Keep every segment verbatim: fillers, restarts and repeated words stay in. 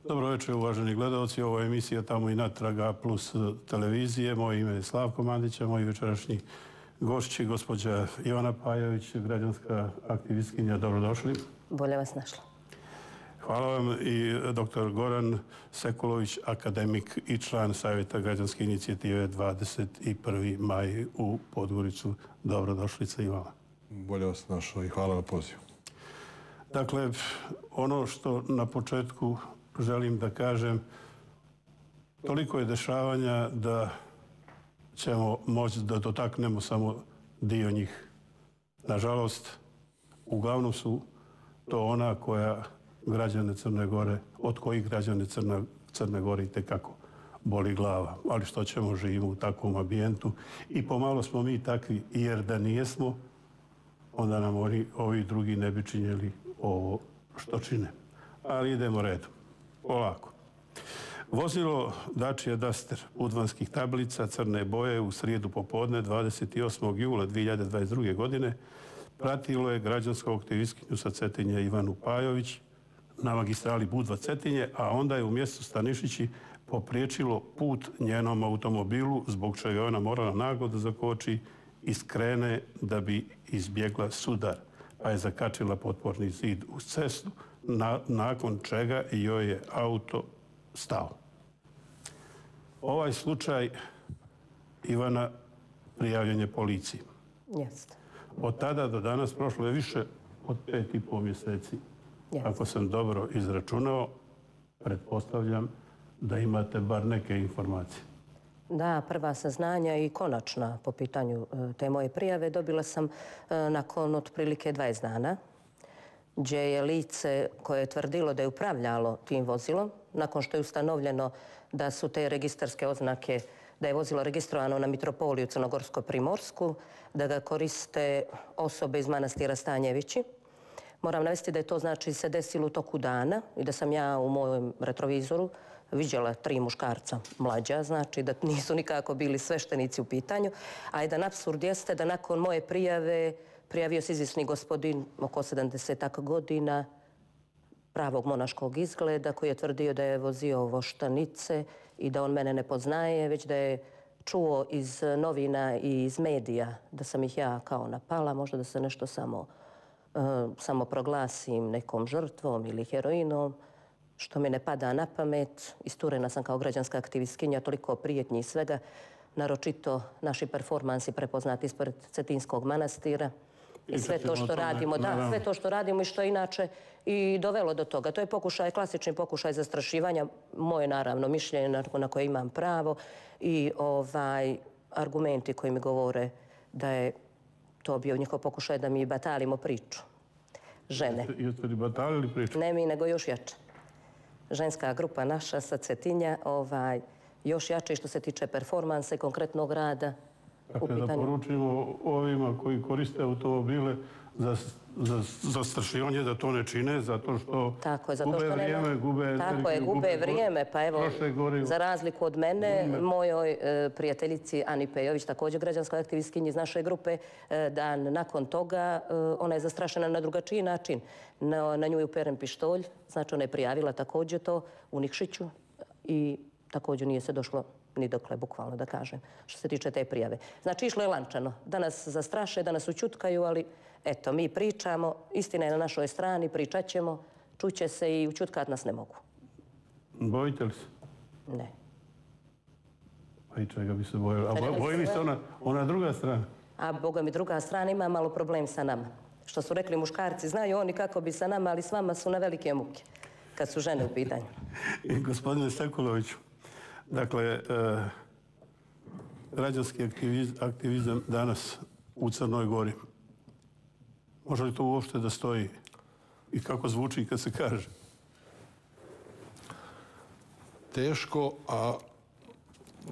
Dobro večer, uvaženi gledalci. Ovo je emisija Tamo i natrag A plus televizije. Moje ime je Slavko Mandića, moji večerašnji gošći, gospođa Ivana Pajović, građanska aktivistkinja. Dobrodošli. Bolje vas našla. Hvala vam i doktor Goran Sekulović, akademik i član Savjeta građanske inicijative dvadeset prvi maj u Podgoricu. Dobrodošlica i vama. Bolje vas našla i hvala na pozivu. Dakle, ono što na početku želim da kažem, toliko je dešavanja da ćemo moći da dotaknemo samo dio njih. Nažalost, uglavnom su to ona koja građane Crne Gore, od kojih građane Crne, Crne Gore i tekako boli glava. Ali što ćemo, živimo u takvom ambijentu i pomalo smo mi takvi, jer da nijesmo, onda nam oni, ovi drugi ne bi činjeli ovo što čine. Ali idemo redom. Polako. Vozilo Dacia Duster udvanskih tablica crne boje u srijedu popodne dvadeset osmog jula dvije hiljade dvadeset druge. godine pratilo je građansku aktivistkinju sa Cetinje Ivanu Pajović na magistrali Budva Cetinje, a onda je u mjestu Stanišići popriječilo put njenom automobilu, zbog čega je ona morala naglo da zakoči i skrene da bi izbjegla sudar, pa je zakačila potporni zid uz cestu, na, nakon čega joj je auto stao. Ovaj slučaj Ivana prijavljen je policiji. Jeste. Od tada do danas prošlo je više od pet i pol mjeseci. Jeste. Ako sam dobro izračunao, pretpostavljam da imate bar neke informacije. Da, prva saznanja i konačna po pitanju te moje prijave dobila sam nakon otprilike dvadeset dana, gdje je lice koje je tvrdilo da je upravljalo tim vozilom, nakon što je ustanovljeno da su te registarske oznake, da je vozilo registrovano na Mitropoliju Crnogorsko-Primorsku, da ga koriste osobe iz manastira Stanjevići. Moram navesti da je to znači se desilo u toku dana i da sam ja u mojem retrovizoru viđala tri muškarca mlađa, znači da nisu nikako bili sveštenici u pitanju. A jedan apsurd jeste da nakon moje prijave prijavio se izvisni gospodin oko sedamdesetak godina, pravog monaškog izgleda, koji je tvrdio da je vozio voštanice i da on mene ne poznaje, već da je čuo iz novina i iz medija da sam ih ja kao napala, možda da se nešto samo, uh, samo proglasim nekom žrtvom ili heroinom, što mi ne pada na pamet. Isturena sam kao građanska aktivistkinja, toliko prijetnji i svega, naročito naši performansi prepoznati ispred Cetinskog manastira. I sve to što radimo, da, sve to što radimo i što je inače i dovelo do toga. To je pokušaj, klasični pokušaj zastrašivanja, moje naravno mišljenje na koje imam pravo i ovaj argumenti koji mi govore da je to bio njihov pokušaj da mi batalimo priču. Žene. Jeste li batalili priču? Ne mi, nego još jače. Ženska grupa naša sa Cetinja, ovaj, još jače što se tiče performansa i konkretnog rada. Dakle, da poručimo ovima koji koriste automobile za, za zastrašivanje da to ne čine, zato što tako je, zato gube što vrijeme, nema, gube... Tako je, gube vrijeme, pa evo, za razliku od mene, gume. Mojoj e, prijateljici Ani Pejović, također građanskoj aktivistkinji iz naše grupe, e, dan nakon toga e, ona je zastrašena na drugačiji način. Na, na nju je uperen pištolj, znači ona je prijavila također to u Nikšiću i također nije se došlo ni dokle, bukvalno da kažem, što se tiče te prijave. Znači, išlo je lančano. Da nas zastraše, da nas učutkaju, ali eto, mi pričamo, istina je na našoj strani, pričat ćemo, čuće se i učutkat nas ne mogu. Bojite li se? Ne. Pa i čega bi se bojili? A boji li se ona, ona druga strana? A boga mi druga strana ima malo problem sa nama. Što su rekli muškarci, znaju oni kako bi sa nama, ali s vama su na velike muke, kad su žene u pitanju. Gospodine Sekuloviću, dakle, e, građanski aktiviz, aktivizam danas u Crnoj Gori, može li to uopšte da stoji i kako zvuči kad se kaže? Teško, a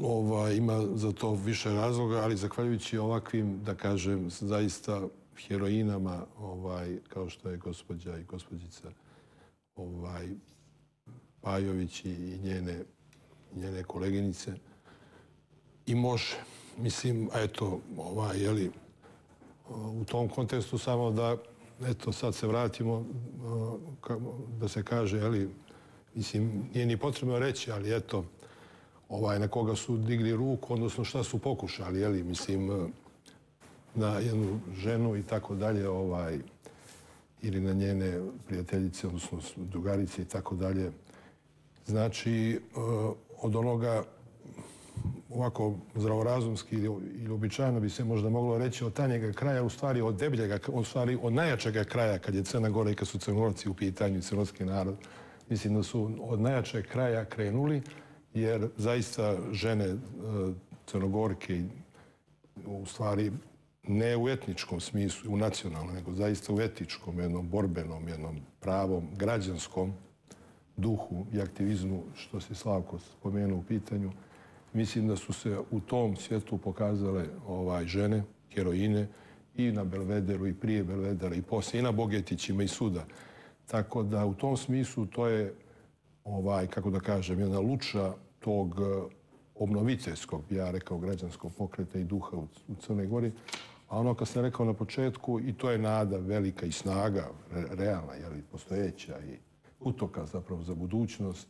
ova, ima za to više razloga, ali zahvaljujući ovakvim, da kažem, zaista heroinama, ovaj, kao što je gospođa i gospođica ovaj, Pajović i njene njene koleginice i može. Mislim, eto, ovaj, jeli, u tom kontekstu samo da, eto, sad se vratimo, da se kaže, jeli, mislim, nije ni potrebno reći, ali eto, ovaj, na koga su digli ruku, odnosno šta su pokušali, jeli, mislim, na jednu ženu i tako dalje, ovaj, ili na njene prijateljice, odnosno drugarice i tako dalje. Znači, od onoga ovako zdravorazumski ili običajno bi se možda moglo reći od tanjega kraja, u stvari od debljega, u stvari od najjačega kraja kad je Crna Gora i kad su Crnogorci u pitanju, crnogorski narod. Mislim da su od najjačeg kraja krenuli, jer zaista žene Crnogorke u stvari ne u etničkom smislu, u nacionalnom, nego zaista u etičkom, jednom borbenom, jednom pravom, građanskom duhu i aktivizmu, što se Slavko spomenuo u pitanju. Mislim da su se u tom svijetu pokazale ovaj, žene, heroine, i na Belvederu, i prije Belvedera, i poslije, i na Bogetićima, i suda. Tako da u tom smislu to je, ovaj, kako da kažem, jedna luča tog obnoviteljskog, ja rekao, građanskog pokreta i duha u, u Crnoj Gori. A ono kad sam rekao na početku, i to je nada velika i snaga, re, realna, jeli, postojeća i utoka zapravo za budućnost.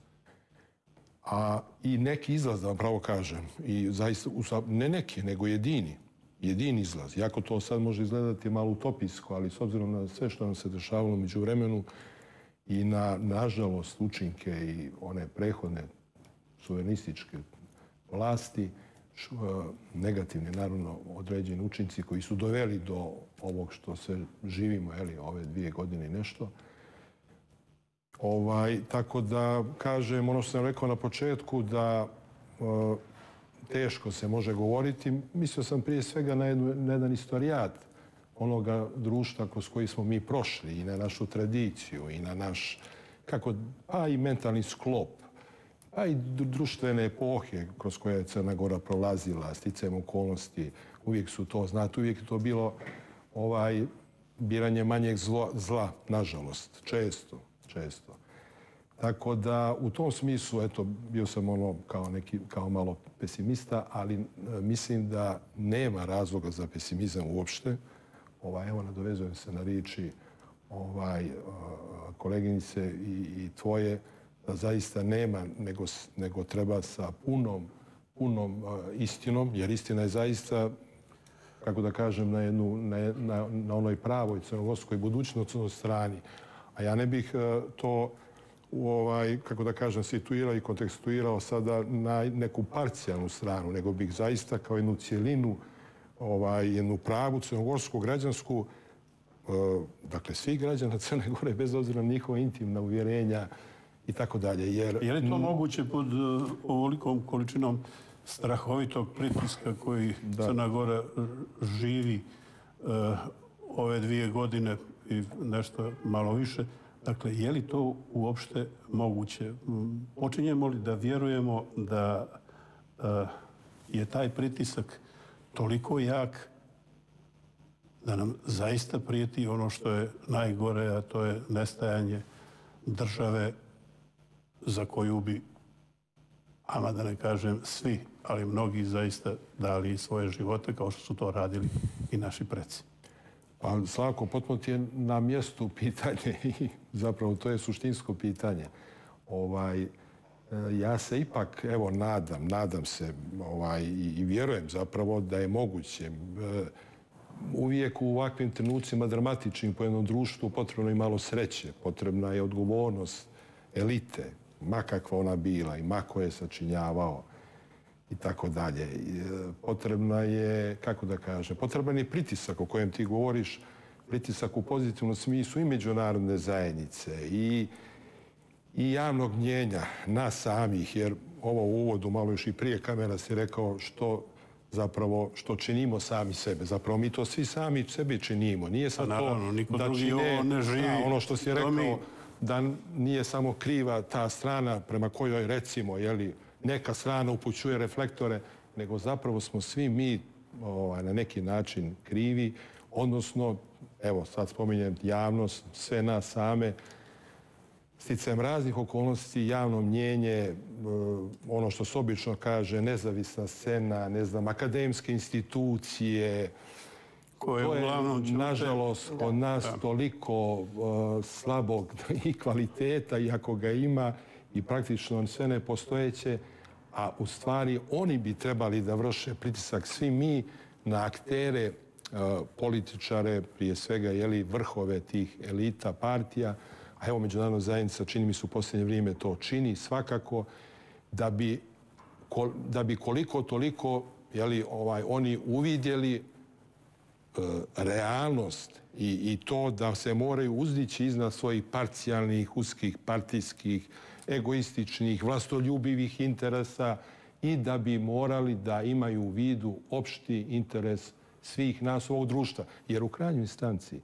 A i neki izlaz, da vam pravo kažem, i zaista, ne neki, nego jedini, jedini izlaz. Iako to sad može izgledati malo utopijsko, ali s obzirom na sve što nam se dešavalo među vremenu i na, nažalost, učinke i one prehodne suverenističke vlasti, negativni, naravno, određeni učinci koji su doveli do ovog što se živimo, jeli, ove dvije godine i nešto. Ovaj, tako da, kažem, ono što sam rekao na početku, da e, teško se može govoriti. Mislio sam prije svega na, jednu, na jedan istorijat onoga društva kroz koji smo mi prošli i na našu tradiciju i na naš, kako, pa i mentalni sklop, pa i društvene epohe kroz koje je Crna Gora prolazila, sticajem okolnosti. Uvijek su to, znate, uvijek je to bilo ovaj, biranje manjeg zlo, zla, nažalost, često. često. Tako da u tom smislu, eto, bio sam ono kao neki, kao malo pesimista, ali e, mislim da nema razloga za pesimizam uopšte. Ovaj, evo, nadovezujem se na riječi ovaj, koleginice i, i tvoje, da zaista nema, nego, nego treba sa punom, punom uh, istinom, jer istina je zaista, kako da kažem, na, jednu, na, na, na onoj pravoj crnogorskoj budućnostnoj strani. A ja ne bih uh, to, u ovaj, kako da kažem, situirao i kontekstuirao sada na neku parcijalnu stranu, nego bih zaista kao jednu cijelinu, ovaj, jednu pravu crnogorsku, građansku, uh, dakle, svih građana Crne Gore, bez obzira na njihova intimna uvjerenja, i tako dalje. Jer... Je li to moguće pod uh, ovolikom količinom strahovitog pritiska koji da. Crna Gora živi uh, ove dvije godine i nešto malo više? Dakle, je li to uopšte moguće? Počinjemo li da vjerujemo da uh, je taj pritisak toliko jak da nam zaista prijeti ono što je najgore, a to je nestajanje države za koju bi, ama da ne kažem svi, ali mnogi zaista dali svoje živote kao što su to radili i naši preci. Pa Slavko, potpuno ti je na mjestu pitanje i zapravo to je suštinsko pitanje. Ovaj, ja se ipak, evo, nadam, nadam se ovaj, i vjerujem zapravo da je moguće. Uvijek u ovakvim trenucima dramatičnim po jednom društvu potrebno je malo sreće, potrebna je odgovornost elite, ma kakva ona bila i ma ko je sačinjavao i tako dalje. Potrebna je, kako da kažem, potreban je pritisak o kojem ti govoriš, pritisak u pozitivnom smislu i međunarodne zajednice i, i javnog mnjenja nas samih, jer ovo u uvodu malo još i prije kamera si rekao što zapravo što činimo sami sebe. Zapravo mi to svi sami sebi činimo. Nije sad naravno, to niko da drugi čine, ovo ne živi. A, ono što si rekao, mi... da nije samo kriva ta strana prema kojoj, recimo, jeli, neka strana upućuje reflektore, nego zapravo smo svi mi ovaj, na neki način krivi, odnosno, evo, sad spominjem javnost, sve nas same, sticajem raznih okolnosti, javno mnjenje, ono što se obično kaže, nezavisna scena, ne znam, akademske institucije, koje to je, uglavnom ćute... nažalost, kod nas da. toliko uh, slabog i kvaliteta, iako ga ima, i praktično sve nepostojeće, a u stvari oni bi trebali da vrše pritisak svi mi na aktere, političare, prije svega jeli, vrhove tih elita partija, a evo međunarodna zajednica čini mi se u posljednje vrijeme to čini svakako, da bi, da bi koliko toliko jeli, ovaj, oni uvidjeli e, realnost i, i to da se moraju uzdići iznad svojih parcijalnih, uskih, partijskih, egoističnih, vlastoljubivih interesa i da bi morali da imaju u vidu opšti interes svih nas ovog društva. Jer u krajnjoj instanci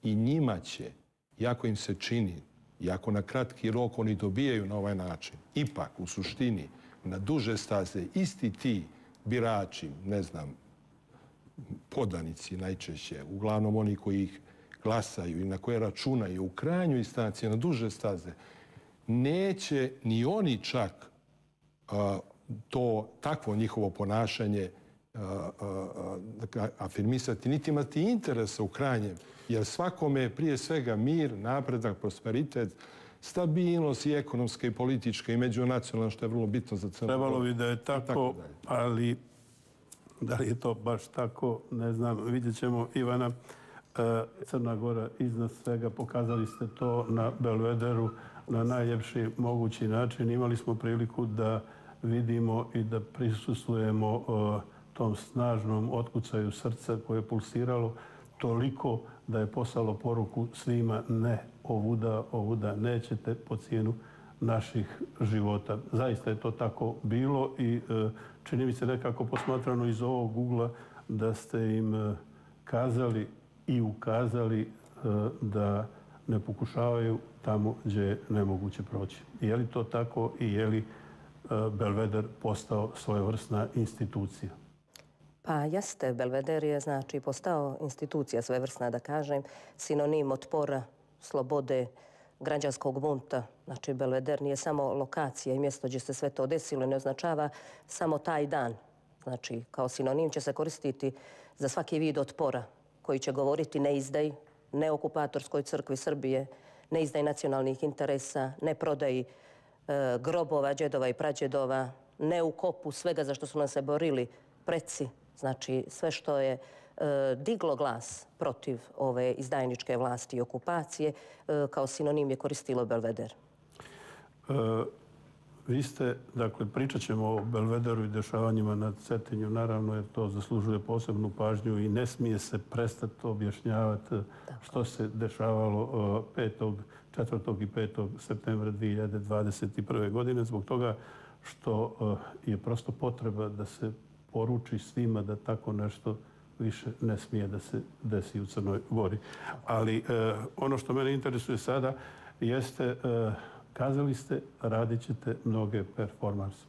i njima će, jako im se čini, jako na kratki rok oni dobijaju na ovaj način, ipak u suštini na duže staze isti ti birači, ne znam, podanici najčešće, uglavnom oni koji ih glasaju i na koje računaju u krajnjoj instanci na duže staze, neće ni oni čak a, to takvo njihovo ponašanje a, a, a, afirmisati, niti imati interesa u krajnjem, jer svakome je prije svega mir, napredak, prosperitet, stabilnost i ekonomska i politička i međunacionalna, što je vrlo bitno za Crnu Goru. Trebalo bi da je tako, ali da li je to baš tako, ne znam. Vidjet ćemo, Ivana. Crna Gora iznad svega, pokazali ste to na Belvederu na najljepši mogući način. Imali smo priliku da vidimo i da prisustvujemo tom snažnom otkucaju srca koje je pulsiralo toliko da je poslalo poruku svima: ne, ovuda, ovuda nećete po cijenu naših života. Zaista je to tako bilo i čini mi se nekako posmatrano iz ovog ugla da ste im kazali i ukazali da ne pokušavaju tamo gdje je nemoguće proći. Je li to tako i je li Belveder postao svojevrsna institucija? Pa jeste, Belveder je znači postao institucija svojevrsna, da kažem, sinonim otpora, slobode, građanskog bunta. Znači, Belveder nije samo lokacija i mjesto gdje se sve to desilo, ne označava samo taj dan. Znači, kao sinonim će se koristiti za svaki vid otpora koji će govoriti ne izdaj, ne okupatorskoj crkvi Srbije, ne izdaj nacionalnih interesa, ne prodaji e, grobova, džedova i prađedova, ne u kopu svega za što su nam se borili preci. Znači, sve što je e, diglo glas protiv ove izdajničke vlasti i okupacije, e, kao sinonim je koristilo Belveder. E, vi ste, dakle, pričat ćemo o Belvederu i dešavanjima na Cetinju, naravno, jer to zaslužuje posebnu pažnju i ne smije se prestati objašnjavati što se dešavalo petog, četvrtog i petog septembra dvije hiljade dvadeset prve. godine, zbog toga što je prosto potreba da se poruči svima da tako nešto više ne smije da se desi u Crnoj Gori. Ali eh, ono što mene interesuje sada jeste, eh, kazali ste, radit ćete mnoge performanse.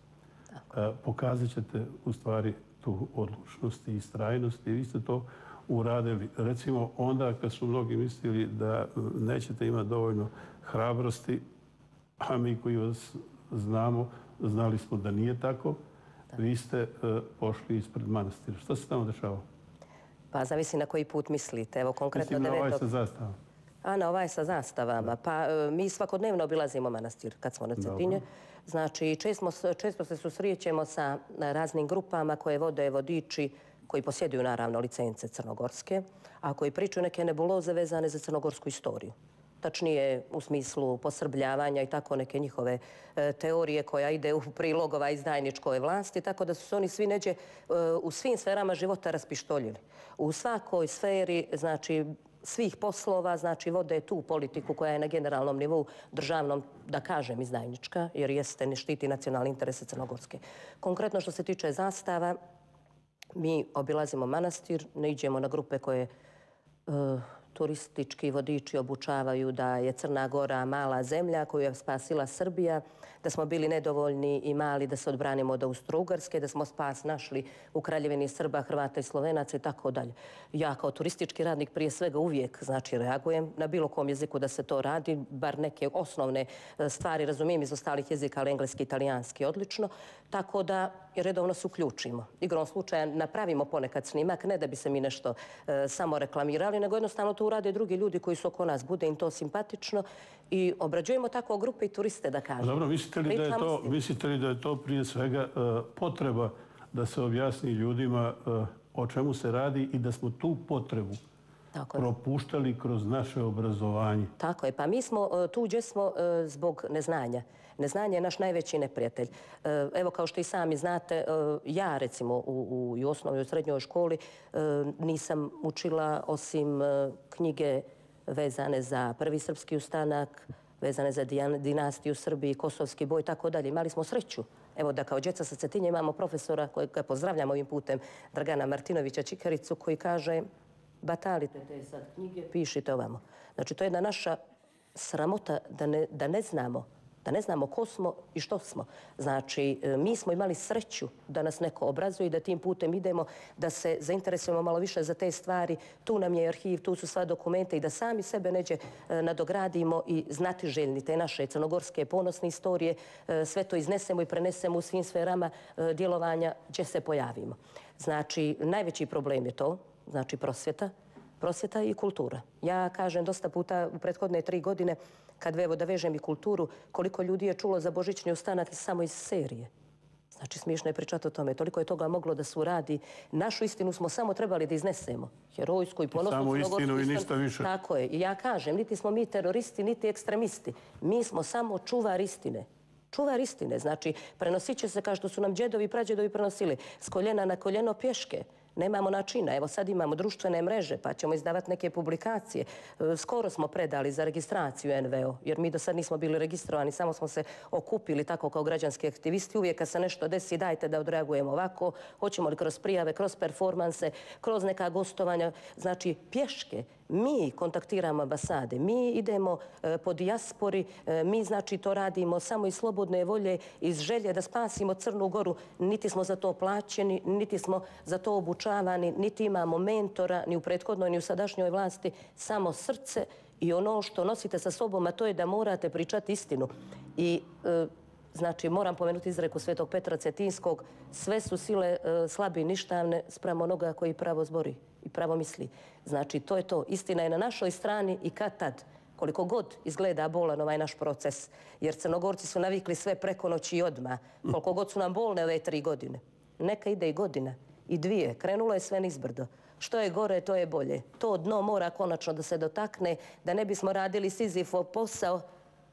Eh, pokazat ćete u stvari tu odlučnost i istrajnost i vi ste to uradili. Recimo onda kad su mnogi mislili da nećete imati dovoljno hrabrosti, a mi koji vas znamo, znali smo da nije tako, vi ste uh, pošli ispred manastira. Što se tamo dešavalo? Pa zavisi na koji put mislite. Evo konkretno Mislim na ovaj devetog sa zastavom. A na ovaj sa zastavama. Pa uh, mi svakodnevno obilazimo manastir kad smo na Cetinje. Znači često, često se susrećemo sa raznim grupama koje vode vodiči koji posjeduju naravno licence crnogorske, a koji pričaju neke nebuloze vezane za crnogorsku istoriju. Tačnije u smislu posrbljavanja i tako neke njihove e, teorije koja ide u prilog ova izdajničkoj vlasti, tako da su se oni svi neđe e, u svim sferama života raspištoljili. U svakoj sferi, znači, svih poslova, znači, vode tu politiku koja je na generalnom nivou državnom, da kažem, izdajnička, jer jeste, ne štiti nacionalne interese Crnogorske. Konkretno što se tiče zastava, mi obilazimo manastir, ne iđemo na grupe koje e, turistički vodiči obučavaju da je Crna Gora mala zemlja koju je spasila Srbija, da smo bili nedovoljni i mali da se odbranimo od Austro-Ugarske, da smo spas našli u Kraljevini Srba, Hrvata i Slovenaca i tako dalje. Ja kao turistički radnik prije svega uvijek znači reagujem na bilo kom jeziku da se to radi, bar neke osnovne stvari razumijem iz ostalih jezika, ali engleski i italijanski odlično. Tako da i redovno se uključimo. Igrom slučaja napravimo ponekad snimak, ne da bi se mi nešto e, samo reklamirali, nego jednostavno to urade drugi ljudi koji su oko nas. Bude im to simpatično i obrađujemo tako grupe i turiste, da kažem. Dobro, mislite li da je to, mislite li da je to prije svega e, potreba da se objasni ljudima e, o čemu se radi i da smo tu potrebu Tako propuštali kroz naše obrazovanje? Tako je. Pa mi smo tu gdje smo zbog neznanja. Neznanje je naš najveći neprijatelj. Evo, kao što i sami znate, ja recimo u, u osnovnoj i u srednjoj školi nisam učila osim knjige vezane za prvi srpski ustanak, vezane za dinastiju Srbiji, kosovski boj i tako dalje. Imali smo sreću. Evo da kao djeca sa Cetinje imamo profesora kojeg pozdravljam ovim putem, Dragana Martinovića Čikaricu, koji kaže: batalite te sad knjige, pišite ovamo. Znači, to je jedna naša sramota da ne, da ne znamo, da ne znamo ko smo i što smo. Znači, mi smo imali sreću da nas neko obrazuje i da tim putem idemo, da se zainteresujemo malo više za te stvari. Tu nam je arhiv, tu su sva dokumenta i da sami sebe neđe nadogradimo i znatiželjni te naše crnogorske ponosne istorije, sve to iznesemo i prenesemo u svim sferama djelovanja gdje se pojavimo. Znači, najveći problem je to, znači prosvjeta, prosvjeta i kultura. Ja kažem dosta puta u prethodne tri godine, kad evo da vežem i kulturu, koliko ljudi je čulo za Božićni ustanak samo iz serije. Znači, smiješno je pričati o tome. Toliko je toga moglo da se uradi. Našu istinu smo samo trebali da iznesemo. Herojsku i ponosnu. Samo istinu i ništa više. Tako je. I ja kažem, niti smo mi teroristi, niti ekstremisti. Mi smo samo čuvar istine. Čuvar istine. Znači, prenosit će se kao što su nam džedovi i prađedovi prenosili. S koljena na koljeno pješke. Nemamo načina. Evo sad imamo društvene mreže, pa ćemo izdavati neke publikacije. Skoro smo predali za registraciju en ve o, jer mi do sad nismo bili registrovani, samo smo se okupili tako kao građanski aktivisti. Uvijek kad se nešto desi, dajte da odreagujemo ovako. Hoćemo li kroz prijave, kroz performanse, kroz neka gostovanja. Znači, pješke. Mi kontaktiramo ambasade, mi idemo po dijaspori, mi znači to radimo samo iz slobodne volje, iz želje da spasimo Crnu Goru. Niti smo za to plaćeni, niti smo za to obučavani, niti imamo mentora, ni u prethodnoj, ni u sadašnjoj vlasti, samo srce i ono što nosite sa sobom, a to je da morate pričati istinu. I znači, moram pomenuti izreku Svetog Petra Cetinskog, sve su sile slabe i ništavne spram onoga koji pravo zbori i pravo misli. Znači, to je to. Istina je na našoj strani i kad tad, koliko god izgleda bolan ovaj naš proces, jer Crnogorci su navikli sve preko noći i odmah, koliko god su nam bolne ove tri godine. Neka ide i godina, i dvije. Krenulo je sve nizbrdo. Što je gore, to je bolje. To dno mora konačno da se dotakne, da ne bismo radili Sizifov posao.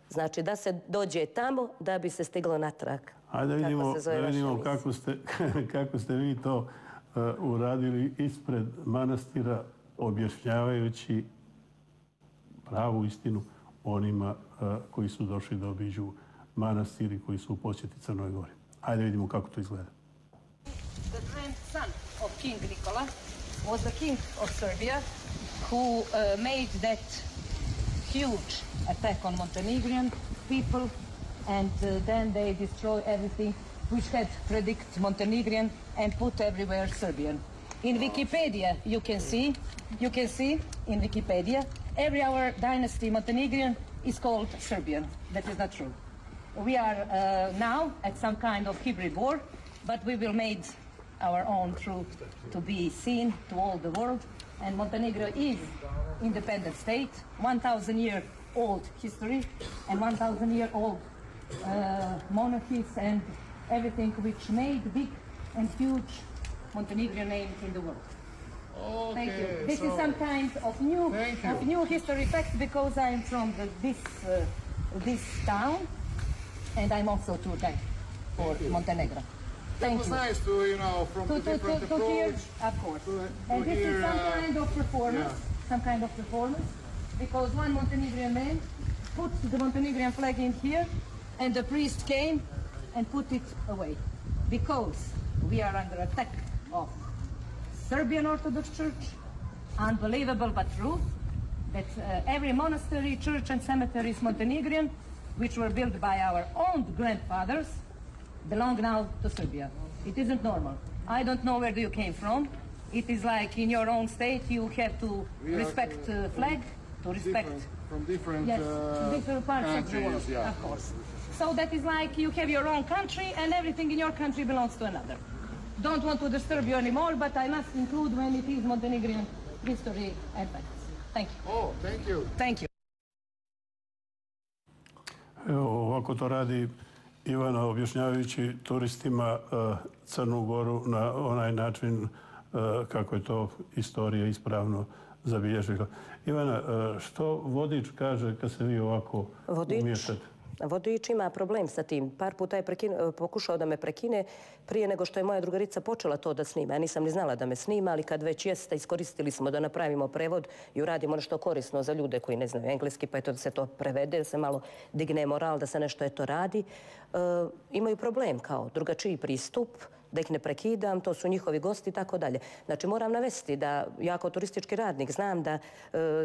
Znači, da se dođe tamo da bi se stiglo natrag. Ajde da vidimo, da vidimo kako, ste, kako ste vi to uh, uradili ispred manastira, objašnjavajući pravu istinu onima uh, koji su došli da obiđu manastir i koji su u posjeti Crnoj Gori. Ajde vidimo kako to izgleda. The grandson of King Nikola was the king of Serbia who uh, made that huge attack on Montenegrin people, and uh, then they destroy everything which had predict Montenegrin and put everywhere Serbian. In Wikipedia you can see, you can see in Wikipedia, every our dynasty Montenegrin is called Serbian. That is not true. We are uh, now at some kind of hybrid war, but we will make our own truth to be seen to all the world. And Montenegro is independent state, one thousand year old history, and one thousand year old uh, monarchies and everything which made big and huge Montenegrin name in the world. Okay, Thank you. This so is some kind of new, of new history fact because I am from the, this uh, this town, and I'm also tour guide for Montenegro. It was nice to, you know, from to, the to, different to, to approach. hear, of course. To, to and this hear, is some uh, kind of performance, yeah. some kind of performance, because one Montenegrin man put the Montenegrin flag in here, and the priest came and put it away, because we are under attack of Serbian Orthodox Church, unbelievable but true, that uh, every monastery, church and cemetery is Montenegrin, which were built by our own grandfathers, belong now to Serbia. It isn't normal. I don't know where you came from. It is like in your own state you have to We respect are, uh, flag, to respect... Different, from different, Yes, uh, different parts of the world, countries, yeah. of course. So that is like you have your own country and everything in your country belongs to another. Don't want to disturb you anymore, but I must include when it is Montenegrin history and facts. Thank you. Oh, thank you. Thank you. Evo, ovako to radi Ivana objašnjavajući turistima uh, Crnu Goru na onaj način uh, kako je to istorija ispravno zabilježila. Ivana, uh, što vodič kaže kad se vi ovako Vodič? umiješate? Vodič ima problem sa tim. Par puta je prekine, pokušao da me prekine prije nego što je moja drugarica počela to da snima. Ja nisam ni znala da me snima, ali kad već jeste, iskoristili smo da napravimo prevod i uradimo nešto korisno za ljude koji ne znaju engleski, pa eto da se to prevede, da se malo digne moral, da se nešto eto radi. E, imaju problem kao drugačiji pristup, da ih ne prekidam, to su njihovi gosti i tako dalje. Znači moram navesti da ja kao turistički radnik znam da e,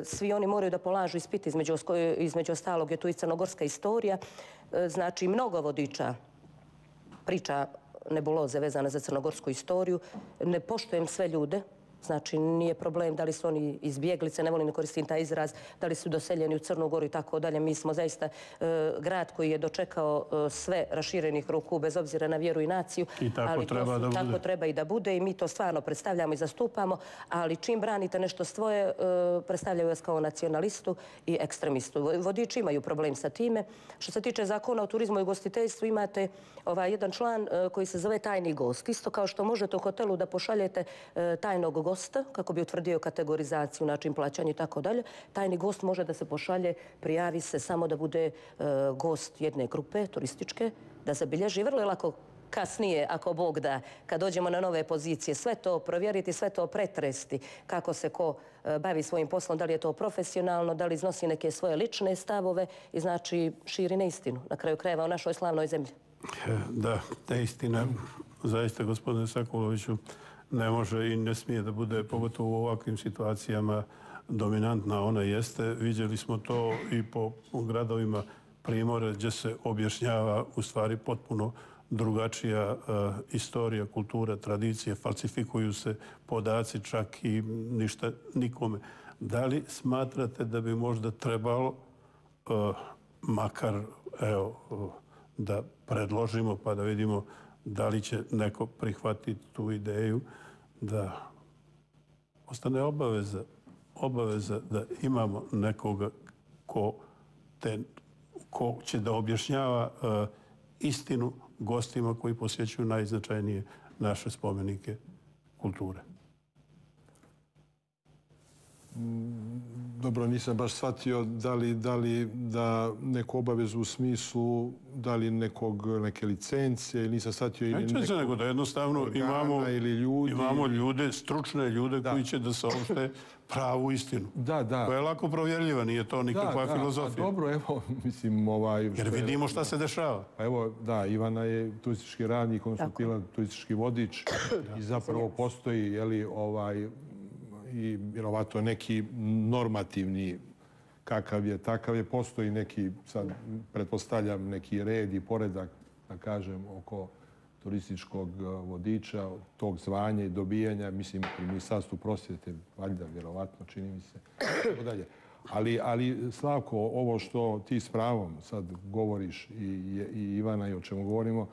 svi oni moraju da polažu ispit, između, između ostalog je tu i crnogorska istorija. E, znači mnogo vodiča priča nebuloze vezane za crnogorsku istoriju. Ne poštujem sve ljude. Znači, nije problem da li su oni izbjeglice, ne volim da koristim taj izraz, da li su doseljeni u Crnu Goru i tako dalje. Mi smo zaista e, grad koji je dočekao e, sve raširenih ruku, bez obzira na vjeru i naciju. I tako ali treba su, da bude. Tako treba i da bude i mi to stvarno predstavljamo i zastupamo, ali čim branite nešto svoje, e, predstavljaju vas kao nacionalistu i ekstremistu. Vodiči imaju problem sa time. Što se tiče zakona o turizmu i ugostiteljstvu, imate ovaj, jedan član e, koji se zove tajni gost. Isto kao što možete u hotelu da pošaljete e, tajnog gosta, kako bi utvrdio kategorizaciju, način plaćanja i tako dalje. Tajni gost može da se pošalje, prijavi se samo da bude e, gost jedne grupe turističke, da zabilježi. Vrlo je lako kasnije, ako Bog da, kad dođemo na nove pozicije, sve to provjeriti, sve to pretresti, kako se ko e, bavi svojim poslom, da li je to profesionalno, da li iznosi neke svoje lične stavove i znači širi neistinu, na kraju krajeva u našoj slavnoj zemlji. Da, neistina, zaista, gospodine Sakuloviću, ne može i ne smije da bude, pogotovo u ovakvim situacijama, dominantna. Ona jeste. Vidjeli smo to i po gradovima Primorja, gdje se objašnjava u stvari potpuno drugačija uh, istorija, kultura, tradicije, falsifikuju se podaci, čak i ništa nikome. Da li smatrate da bi možda trebalo uh, makar, evo, uh, da predložimo pa da vidimo da li će neko prihvatiti tu ideju da ostane obaveza, obaveza da imamo nekoga ko, te, ko će da objašnjava uh, istinu gostima koji posjećuju najznačajnije naše spomenike kulture. Dobro, nisam baš shvatio da li, da li da neku obavezu u smislu da li nekog, neke licencije, ili nisam shvatio ili nekog se nego da jednostavno imamo, ili ljudi. imamo ljude, stručne ljude da. koji će da saopšte pravu istinu. Da, da. Koja je lako provjerljiva, nije to nikakva da, da. filozofija. A dobro, evo, mislim, ovaj... Jer vidimo šta se dešava. Pa evo, da, Ivana je turistički radnik, on su bila turistički vodič i zapravo postoji, jeli, ovaj... i vjerovatno neki normativni kakav je, takav je, postoji neki, sad pretpostavljam, neki red i poredak, da kažem, oko turističkog vodiča, tog zvanja i dobijanja, mislim, pri Ministarstvu prosvjete, valjda, vjerovatno, čini mi se, tako dalje. Ali, ali Slavko, ovo što ti s pravom sad govoriš i, i Ivana i o čemu govorimo,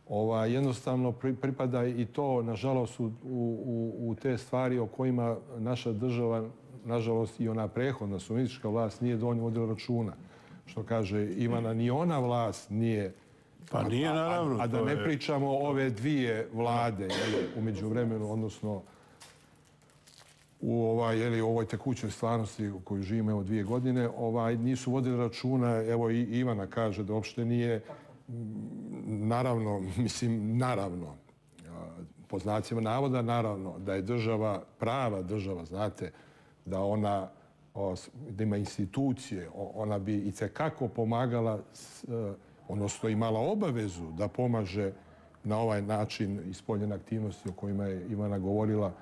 Ova, jednostavno pripada i to, nažalost, u, u, u te stvari o kojima naša država, nažalost i ona prethodna suverenistička vlast nije dovoljno vodila računa. Što kaže Ivana, ni ona vlast nije... Pa nije, naravno. A, a da ne je... pričamo o ove dvije vlade, jeli, u međuvremenu, odnosno u ovaj, jeli, ovoj tekućoj stvarnosti u kojoj živimo evo dvije godine, ovaj, nisu vodili računa, evo i Ivana kaže da uopšte nije... Naravno, mislim, naravno, po znacima navoda, naravno, da je država, prava država, znate, da ona, da ima institucije, ona bi i tekako pomagala, odnosno imala obavezu da pomaže na ovaj način ispoljene aktivnosti o kojima je Ivana govorila,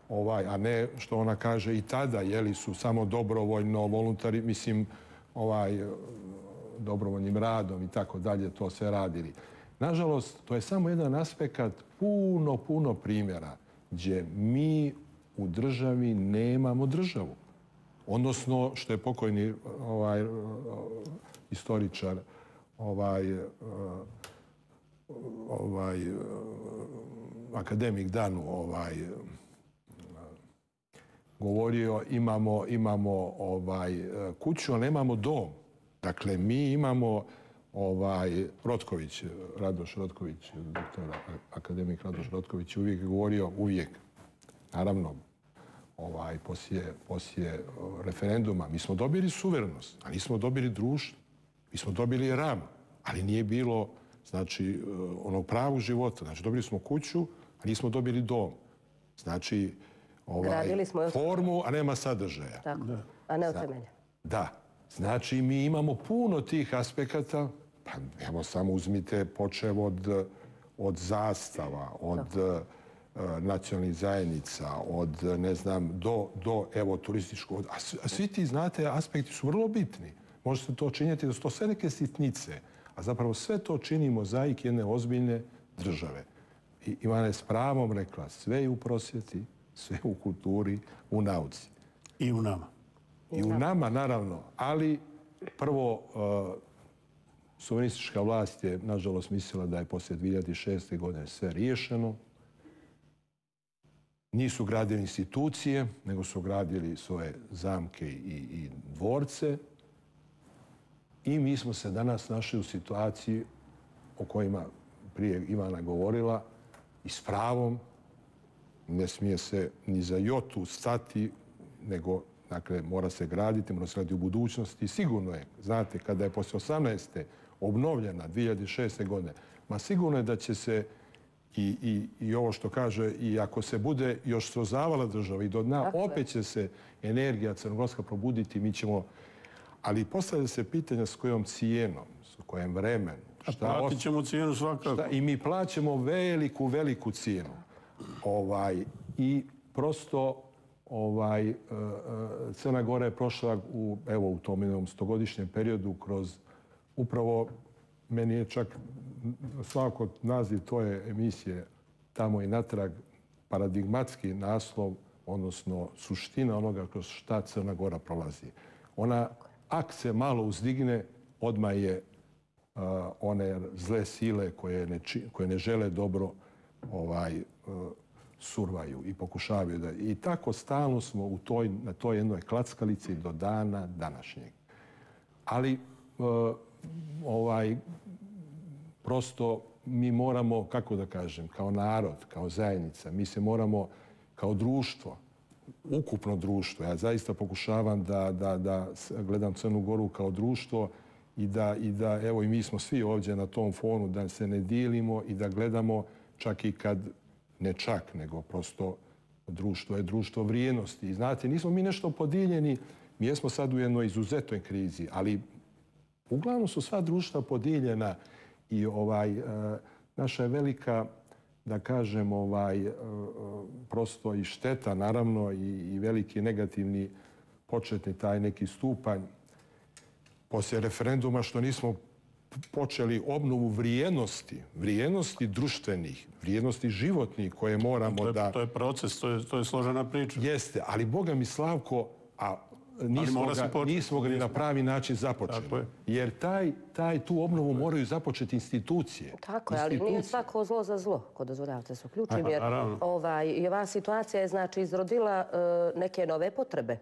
ovaj, a ne što ona kaže i tada, jeli su samo dobrovoljno, voluntari, mislim, ovaj, dobrovoljnim radom i tako dalje, to sve radili. Nažalost, to je samo jedan aspekt puno, puno primjera gdje mi u državi nemamo državu. Odnosno, što je pokojni ovaj, istoričar ovaj, uh, ovaj, uh, akademik Danu ovaj, govorio, imamo, imamo ovaj, kuću, ali nemamo dom. Dakle, mi imamo ovaj, Rotković, Radoš Rotković, doktor akademik Radoš Rotković uvijek govorio, uvijek, naravno, ovaj, poslije, poslije referenduma, mi smo dobili suverenost, a nismo dobili društvo. Mi smo dobili ram, ali nije bilo, znači, onog pravog života. Znači, dobili smo kuću, a nismo dobili dom. Znači, ovaj, smo formu, a nema sadržaja. Tako, a ne od temelja. Da. Znači, mi imamo puno tih aspekata. Pa, evo, samo uzmite počev od, od zastava, od uh, nacionalnih zajednica, od, ne znam, do, do evo, turističkog. A, a svi ti, znate, aspekti su vrlo bitni. Možete to činiti da su to sve neke sitnice, a zapravo sve to čini mozaik jedne ozbiljne države. I Ivana je s pravom rekla, sve je u prosvjeti, sve u kulturi, u nauci. I u nama. I u nama, naravno, ali prvo, uh, suverenistička vlast je, nažalost, mislila da je poslije dvije hiljade šeste. godine sve riješeno. Nisu gradili institucije, nego su gradili svoje zamke i, i dvorce. I mi smo se danas našli u situaciji o kojima prije Ivana govorila i s pravom ne smije se ni za jotu stati, nego dakle, mora se graditi, mora se graditi u budućnosti. Sigurno je, znate, kada je poslije osamnaeste obnovljena dvije hiljade šeste. godine, ma sigurno je da će se i, i, i ovo što kaže, i ako se bude još srozavala država i do dna, opet će se energija crnogorska probuditi, mi ćemo. Ali postavlja se pitanja s kojom cijenom, s kojim vremenom. A platit ćemo cijenu svakako. Šta, I mi plaćamo veliku, veliku cijenu. Ovaj, I prosto ovaj, Crna Gora je prošla u, evo, u tom jednom stogodišnjem periodu kroz upravo, meni je čak svakako naziv tvoje emisije Tamo i natrag paradigmatski naslov, odnosno suština onoga kroz šta Crna Gora prolazi. Ona, ak se malo uzdigne, odmah je uh, one zle sile koje ne, či, koje ne žele dobro ovaj, uh, survaju i pokušavaju da. I tako stalno smo u toj, na toj jednoj klackalici do dana današnjeg. Ali uh, ovaj, prosto mi moramo, kako da kažem, kao narod, kao zajednica, mi se moramo kao društvo, ukupno društvo. Ja zaista pokušavam da, da, da gledam Crnu Goru kao društvo i da, i da, evo i mi smo svi ovdje na tom fonu, da se ne dijelimo i da gledamo čak i kad, ne čak, nego prosto društvo je društvo vrijednosti. I znate, nismo mi nešto podijeljeni, mi jesmo sad u jednoj izuzetnoj krizi, ali uglavnom su sva društva podijeljena i ovaj, naša je velika, da kažem, ovaj, prosto i šteta, naravno, i, i veliki negativni početni taj neki stupanj poslije referenduma što nismo počeli obnovu vrijednosti, vrijednosti društvenih, vrijednosti životnih koje moramo to je, da... To je proces, to je, to je složena priča. Jeste, ali Boga mi, Slavko, a nismo ga, nismo ga ni na pravi način započeli. Jer taj, taj, tu obnovu moraju započeti institucije. Tako je, ali nije svako zlo za zlo, ko dozvoljavate se uključim. Jer ovaj, i ova situacija je znači izrodila uh, neke nove potrebe.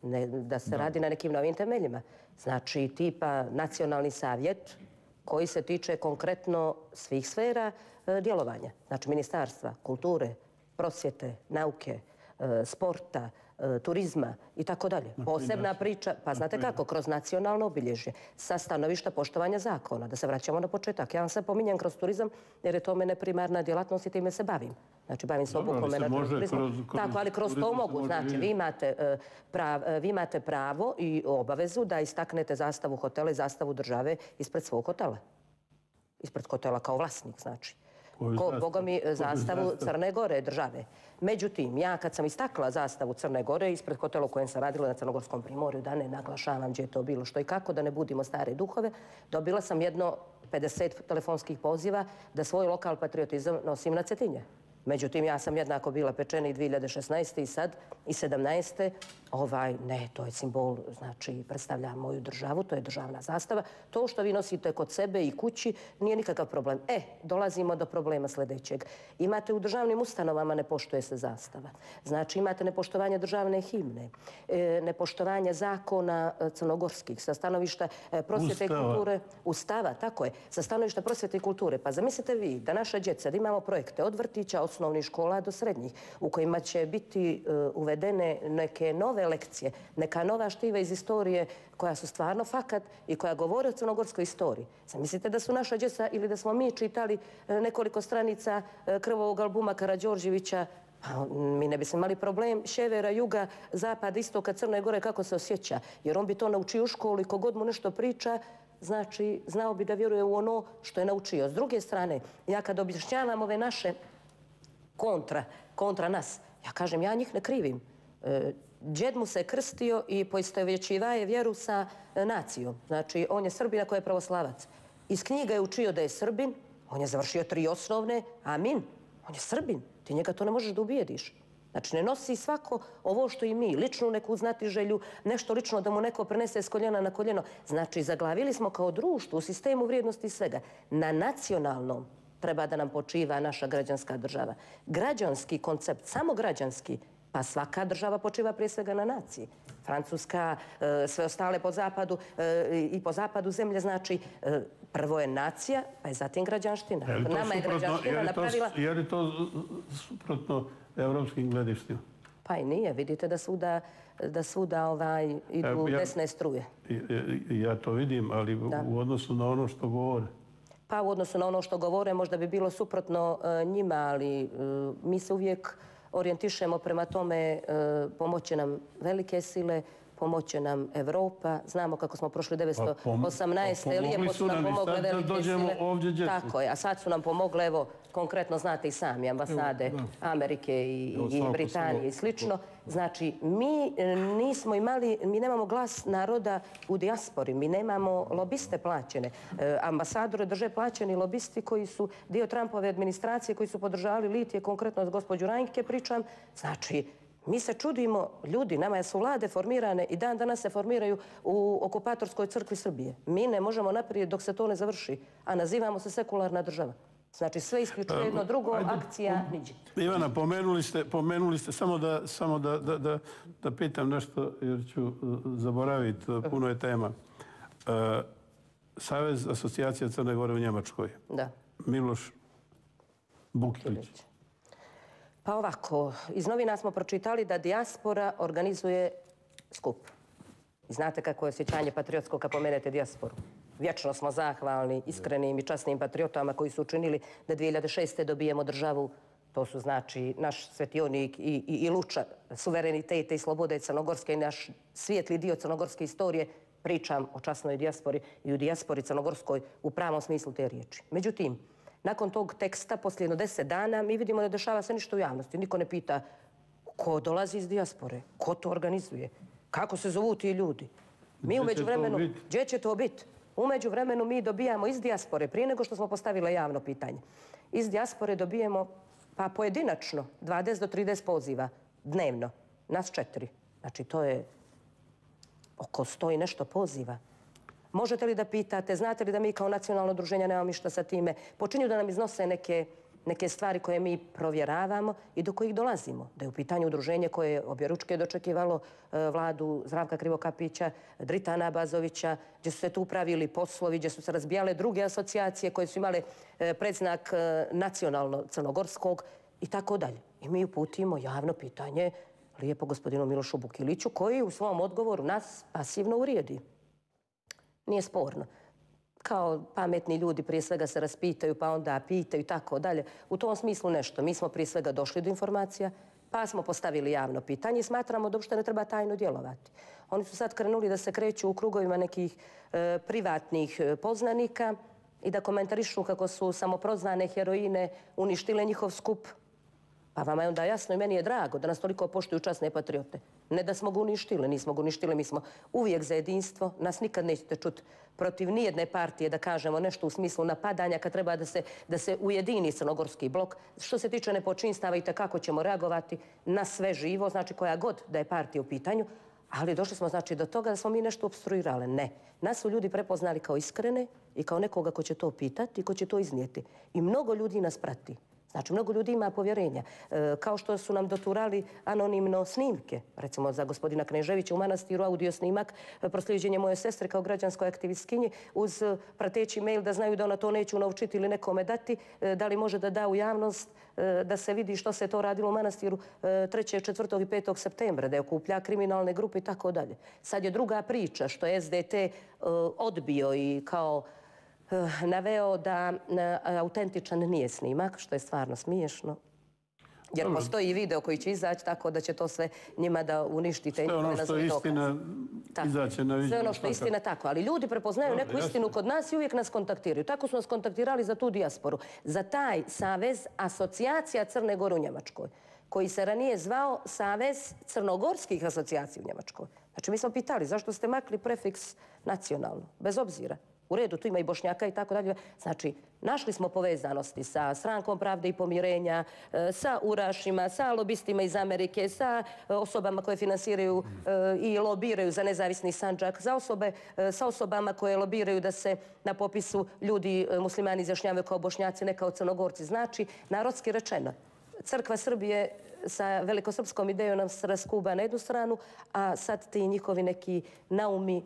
Ne, da se da. radi na nekim novim temeljima. Znači, tipa nacionalni savjet koji se tiče konkretno svih sfera uh, djelovanja. Znači, ministarstva, kulture, prosvjete, nauke, uh, sporta, turizma i tako dalje. Posebna priča, pa znate kako, kroz nacionalno obilježje, sa stanovišta poštovanja zakona, da se vraćamo na početak. Ja vam sve pominjem kroz turizam jer je to mene primarna djelatnost i time se bavim. Znači, bavim se obukom menadžera turizma. Tako, ali kroz to mogu. Znači, vi imate, prav, vi imate pravo i obavezu da istaknete zastavu hotela i zastavu države ispred svog hotela. Ispred hotela kao vlasnik, znači. Ko, Boga mi, zastavu Crne Gore države. Međutim, ja kad sam istakla zastavu Crne Gore ispred hotela u kojem sam radila na Crnogorskom primorju, da ne naglašavam gdje je to bilo što i kako, da ne budimo stare duhove, dobila sam jedno pedeset telefonskih poziva da svoj lokal patriotizam nosim na Cetinje. Međutim, ja sam jednako bila pečena i dvije hiljade šesnaeste i sad i sedamnaeste Ovaj, ne, to je simbol, znači, predstavlja moju državu, to je državna zastava. To što vi nosite kod sebe i kući nije nikakav problem. E, dolazimo do problema sljedećeg. Imate u državnim ustanovama ne poštuje se zastava. Znači, imate nepoštovanje državne himne, e, nepoštovanje zakona crnogorskih sa stanovišta e, prosvjete i kulture. Ustava, tako je. Sa stanovišta prosvjete i kulture. Pa zamislite vi da naša djeca, da imamo projekte od vrtića, osnovnih škola do srednjih, u kojima će biti e, uvedene neke nove lekcije, neka nova štiva iz istorije koja su stvarno fakat i koja govore o crnogorskoj istoriji. Zamislite da su naša djeca ili da smo mi čitali nekoliko stranica krvovog albuma Karađorđevića, pa mi ne bismo imali problem sjevera, juga, zapada, istoka, Crne Gore, kako se osjeća. Jer on bi to naučio u školi, kogod mu nešto priča, znači znao bi da vjeruje u ono što je naučio. S druge strane, ja kad objašnjavam ove naše kontra, kontra nas, ja kažem, ja njih ne krivim. Džed mu se krstio i poistovjećivaje vjeru sa nacijom. Znači, on je Srbin ako je pravoslavac. Iz knjiga je učio da je Srbin, on je završio tri osnovne, amin, on je Srbin. Ti njega to ne možeš da ubijediš. Znači, ne nosi svako ovo što i mi, ličnu neku znatiželju, nešto lično da mu neko prenese s koljena na koljeno. Znači, zaglavili smo kao društvo u sistemu vrijednosti svega. Na nacionalnom treba da nam počiva naša građanska država. Građanski koncept, samo građanski, pa svaka država počiva prije svega na naciji. Francuska, sve ostale po zapadu i po zapadu zemlje, znači prvo je nacija, pa je zatim građanština. Nama je građanština napravila... Je li to suprotno evropskim gledištima? Pa i nije. Vidite da svuda, da svuda ovaj, idu ja, desne struje. Ja to vidim, ali da. U odnosu na ono što govore. Pa u odnosu na ono što govore možda bi bilo suprotno uh, njima, ali uh, mi se uvijek orijentišemo prema tome, uh, pomoće nam velike sile, pomoće nam Evropa. Znamo kako smo prošli devetsto osamnaeste. Pa, lijepo su nam pomogle velike sile. Ovdje tako je, a sad su nam pomogle, evo, konkretno znate i sami, ambasade evo, Amerike i, evo, i Britanije i slično. Znači, mi nismo imali, mi nemamo glas naroda u dijaspori, mi nemamo lobiste plaćene. E, ambasadore drže plaćeni lobisti koji su dio Trumpove administracije, koji su podržavali litije, konkretno s gospođu Rajnke pričam. Znači, mi se čudimo, ljudi, nama su vlade formirane i dan danas se formiraju u okupatorskoj crkvi Srbije. Mi ne možemo naprijed dok se to ne završi, a nazivamo se sekularna država. Znači, sve isključuje jedno drugo, ajde, akcija niđe. Ivana, pomenuli ste, pomenuli ste samo, da, samo da, da, da, da pitam nešto, jer ću zaboraviti, puno je tema. Uh, Savez asocijacija Crne Gore u Njemačkoj. Da. Miloš Bukilić. Pa ovako, iz novina smo pročitali da dijaspora organizuje skup. I znate kako je osjećanje patriotsko kad pomenete dijasporu. Vječno smo zahvalni iskrenim i časnim patriotama koji su učinili da dvije hiljade šeste. dobijemo državu. To su znači naš svetionik i, i, i luča suverenitete i slobode Crnogorske i naš svijetli dio crnogorske istorije. Pričam o časnoj dijaspori i u dijaspori crnogorskoj u pravom smislu te riječi. Međutim, nakon tog teksta, poslije jedno deset dana, mi vidimo da dešava se ništa u javnosti. Niko ne pita ko dolazi iz dijaspore, ko to organizuje, kako se zovu ti ljudi. Mi umeđu vremenu, gdje će to biti? Umeđu vremenu mi dobijamo iz dijaspore, prije nego što smo postavili javno pitanje, iz dijaspore dobijemo pa pojedinačno dvadeset do trideset poziva dnevno, nas četiri. Znači to je oko sto i nešto poziva. Možete li da pitate, znate li da mi kao nacionalno udruženje nemamo ništa sa time? Počinju da nam iznose neke, neke stvari koje mi provjeravamo i do kojih dolazimo. Da je u pitanju udruženje koje je objeručke dočekivalo e, vladu Zdravka Krivokapića, Dritana Bazovića, gdje su se tu pravili poslovi, gdje su se razbijale druge asocijacije koje su imale e, predznak e, nacionalno-crnogorskog i tako dalje. I mi uputimo javno pitanje lijepo gospodinu Milošu Bukiliću koji u svom odgovoru nas pasivno uvrijedi. Nije sporno. Kao pametni ljudi prije svega se raspitaju, pa onda pitaju i tako dalje. U tom smislu nešto. Mi smo prije svega došli do informacija, pa smo postavili javno pitanje i smatramo da uopšte ne treba tajno djelovati. Oni su sad krenuli da se kreću u krugovima nekih e, privatnih poznanika i da komentarišu kako su samoprozvane heroine uništile njihov skup. Pa vama je onda jasno i meni je drago da nas toliko poštuju časne patriote. Ne da smo ga uništili, nismo ga uništili, mi smo uvijek za jedinstvo. Nas nikad nećete čuti protiv nijedne partije da kažemo nešto u smislu napadanja kad treba da se, da se ujedini crnogorski blok. Što se tiče nepočinstava i kako ćemo reagovati na sve živo, znači koja god da je partija u pitanju, ali došli smo znači do toga da smo mi nešto obstruirali. Ne. Nas su ljudi prepoznali kao iskrene i kao nekoga ko će to pitati i ko će to iznijeti. I mnogo ljudi nas prati. Znači, mnogo ljudi ima povjerenja. E, kao što su nam doturali anonimno snimke, recimo za gospodina Kneževića u manastiru, audio snimak, proslijeđenje moje sestre kao građanskoj aktivistkinji uz prateći mail da znaju da ona to neće unovčiti ili nekome dati, e, da li može da da u javnost, e, da se vidi što se to radilo u manastiru e, trećeg, četvrtog i petog septembra, da je okuplja kriminalne grupe i tako dalje. Sad je druga priča što je S D T e, odbio i kao naveo da autentičan nije snimak, što je stvarno smiješno. Jer postoji i video koji će izaći tako da će to sve njima da uništite. Sve ono što je istina izaće na viđenje. Sve ono što je istina tako. Ali ljudi prepoznaju neku istinu kod nas i uvijek nas kontaktiraju. Tako su nas kontaktirali za tu dijasporu. Za taj savez asocijacija Crne Gore u Njemačkoj, koji se ranije zvao Savez crnogorskih asocijacija u Njemačkoj. Znači mi smo pitali zašto ste makli prefiks nacionalno, bez obzira. U redu, tu ima i Bošnjaka i tako dalje. Znači, našli smo povezanosti sa Strankom pravde i pomirenja, sa urašima, sa lobistima iz Amerike, sa osobama koje finansiraju i lobiraju za nezavisni Sandžak, za osobe, sa osobama koje lobiraju da se na popisu ljudi muslimani izjašnjavaju kao Bošnjaci, ne kao Crnogorci. Znači, narodski rečeno, Crkva Srbije sa velikosrpskom idejom nam se raskuba na jednu stranu, a sad ti njihovi neki naumi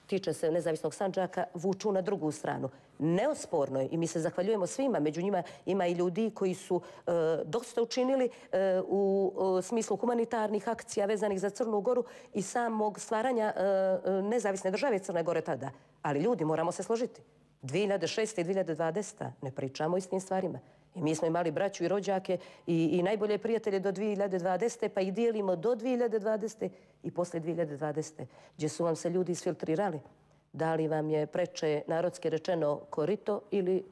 tiče se nezavisnog Sandžaka, vuču na drugu stranu. Neosporno je, i mi se zahvaljujemo svima, među njima ima i ljudi koji su e, dosta učinili e, u e, smislu humanitarnih akcija vezanih za Crnu Goru i samog stvaranja e, nezavisne države Crne Gore tada. Ali ljudi, moramo se složiti. dvije hiljade šeste i dvije hiljade dvadesete ne pričamo o istim stvarima. I mi smo imali braću i rođake i, i najbolje prijatelje do dvije hiljade dvadesete pa ih dijelimo do dvije hiljade dvadesete i posle dvije hiljade dvadesete gdje su vam se ljudi isfiltrirali. Da li vam je preče, narodski rečeno, korito ili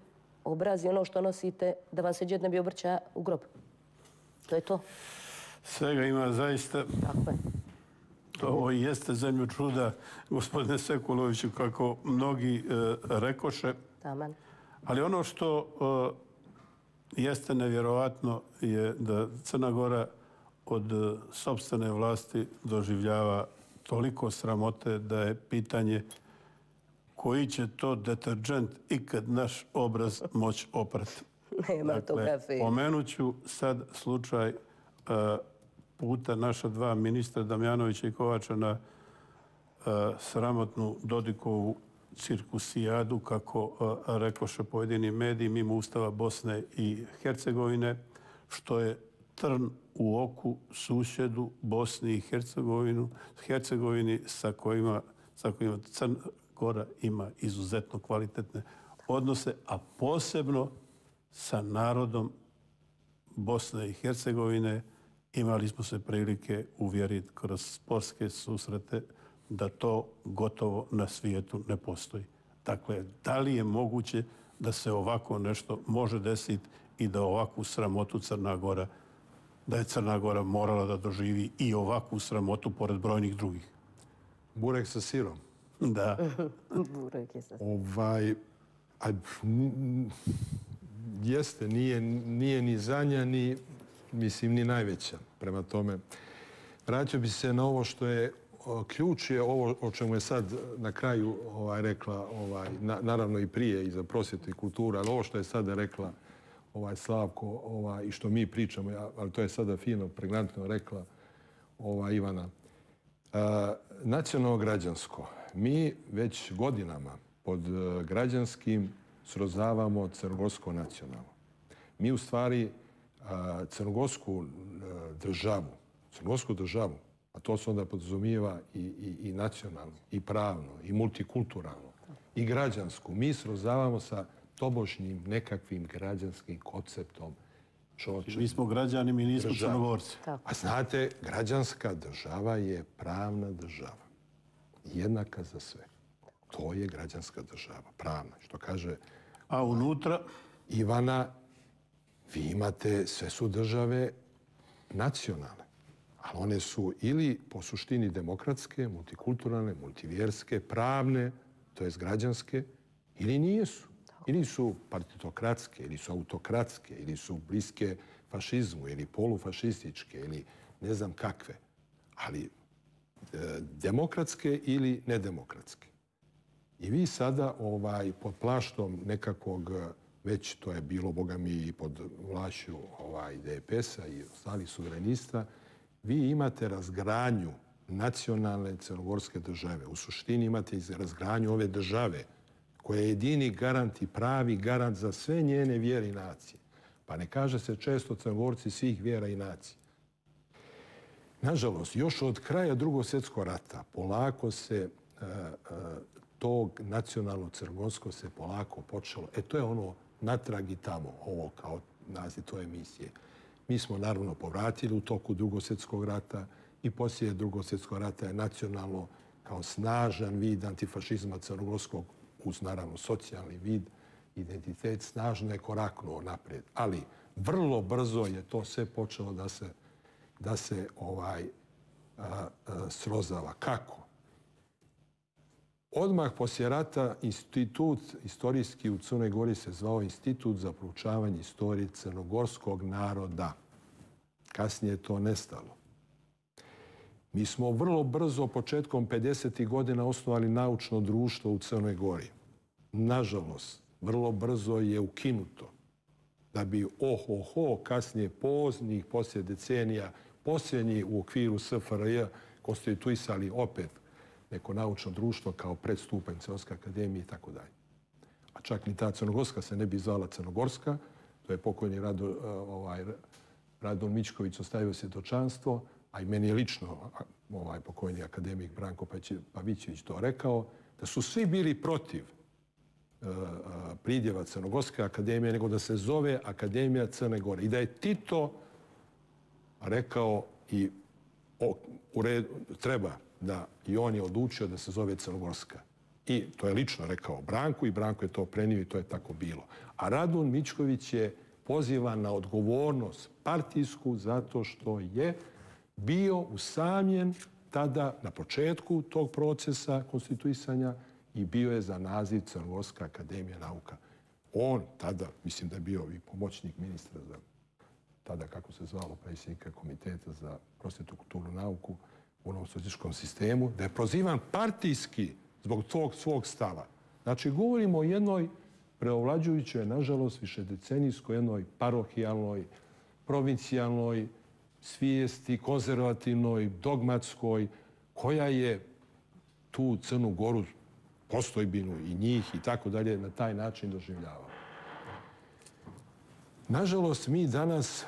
obrazi ono što nosite da vam se džed ne bi obrća u grob. To je to. Svega ima zaista. Tako je. Ovo jeste zemlju čuda, gospodine Sekuloviću, kako mnogi e, rekoše. Taman. Ali ono što e, jeste nevjerovatno je da Crna Gora od e, sopstvene vlasti doživljava toliko sramote da je pitanje koji će to deterđent ikad naš obraz moći oprati. Nema dakle, to kafe. Pomenut ću sad slučaj e, puta naša dva ministra Damjanovića i Kovača na uh, sramotnu Dodikovu cirkusijadu, kako uh, rekoše pojedini mediji, mimo Ustava Bosne i Hercegovine, što je trn u oku susjedu Bosni i Hercegovinu, Hercegovini sa kojima, sa kojima Crna Gora ima izuzetno kvalitetne odnose, a posebno sa narodom Bosne i Hercegovine. Imali smo se prilike uvjeriti kroz sportske susrete da to gotovo na svijetu ne postoji. Dakle, da li je moguće da se ovako nešto može desiti i da ovakvu sramotu Crna Gora, da je Crna Gora morala da doživi i ovakvu sramotu pored brojnih drugih? Burek sa sirom. Da. Burek je sa sirom. Ovaj, a, n, jeste, nije, nije ni zadnja, ni mislim, ni najveća. Prema tome, vraćao bi se na ovo što je ključ, je ovo o čemu je sad na kraju ovaj, rekla, ovaj, na, naravno i prije i za prosvjetu i kulturu, ali ovo što je sada rekla ovaj, Slavko ovaj, i što mi pričamo, ali to je sada fino, pregnantno rekla ovaj, Ivana. A, nacionalno građansko. Mi već godinama pod građanskim srozavamo crnogorsko nacionalno. Mi u stvari crnogorsku državu, crnogorsku državu, a to se onda podrazumijeva i, i, i nacionalno, i pravno, i multikulturalno, i građansku. Mi srozavamo sa tobožnjim nekakvim građanskim konceptom. Čoče, mi smo građani, mi nismo država. Crnogorci. A znate, građanska država je pravna država. Jednaka za sve. To je građanska država, pravna. Što kaže A unutra? Ivana, vi imate, sve su države nacionalne, ali one su ili po suštini demokratske, multikulturalne, multivjerske, pravne, to jest građanske, ili nijesu. Ili su partitokratske, ili su autokratske, ili su bliske fašizmu, ili polufašističke, ili ne znam kakve. Ali e, demokratske ili nedemokratske. I vi sada ovaj, pod plaštom nekakvog, već to je bilo, boga mi, i pod vlašću ovaj, D P S-a i ostalih suverenista, vi imate razgranju nacionalne crnogorske države. U suštini imate razgranju ove države koja je jedini garant i pravi garant za sve njene vjere i nacije. Pa ne kaže se često Crnogorci svih vjera i nacija. Nažalost, još od kraja Drugog svjetskog rata polako se uh, uh, tog nacionalno crnogorsko se polako počelo. E to je ono natrag i tamo, ovo kao naziv toj emisije. Mi smo naravno povratili u toku Drugog svjetskog rata i poslije Drugog svjetskog rata je nacionalno kao snažan vid antifašizma crnogorskog, uz naravno socijalni vid, identitet, snažno je koraknuo naprijed. Ali vrlo brzo je to sve počelo da se, da se ovaj, a, a, srozava. Kako? Odmah poslije rata institut istorijski u Crnoj Gori se zvao Institut za proučavanje istorije crnogorskog naroda. Kasnije je to nestalo. Mi smo vrlo brzo, početkom pedesetih godina, osnovali naučno društvo u Crnoj Gori. Nažalost, vrlo brzo je ukinuto. Da bi ohoho, kasnije poznih, poslije decenija, posljednji u okviru S F R J konstituisali opet neko naučno društvo kao predstupanj Crnogorske akademije i tako dalje. A čak ni ta Crnogorska se ne bi zvala Crnogorska. To je pokojni Rado, ovaj, Radon Mičković ostavio svjedočanstvo, a i meni je lično ovaj pokojni akademik Branko Pavićević to rekao, da su svi bili protiv uh, pridjeva Crnogorske akademije, nego da se zove Akademija Crne Gore. I da je Tito rekao i o, u redu, treba da i on je odlučio da se zove Crnogorska. I to je lično rekao Branku i Branko je to prenio i to je tako bilo. A Radun Mičković je pozivan na odgovornost partijsku zato što je bio usamljen tada na početku tog procesa konstituisanja i bio je za naziv Crnogorska akademija nauka. On tada, mislim da je bio i pomoćnik ministra za tada, kako se zvalo, predsjednika komiteta za prosvjetu, kulturnu nauku u onom socijalističkom sistemu, da je prozivan partijski zbog tog svog stava. Znači, govorimo o jednoj preovlađujućoj, nažalost, višedecenijskoj, jednoj parohijalnoj, provincijalnoj svijesti, konzervativnoj, dogmatskoj, koja je tu Crnu Goru, postojbinu i njih i tako dalje, na taj način doživljavala. Nažalost, mi danas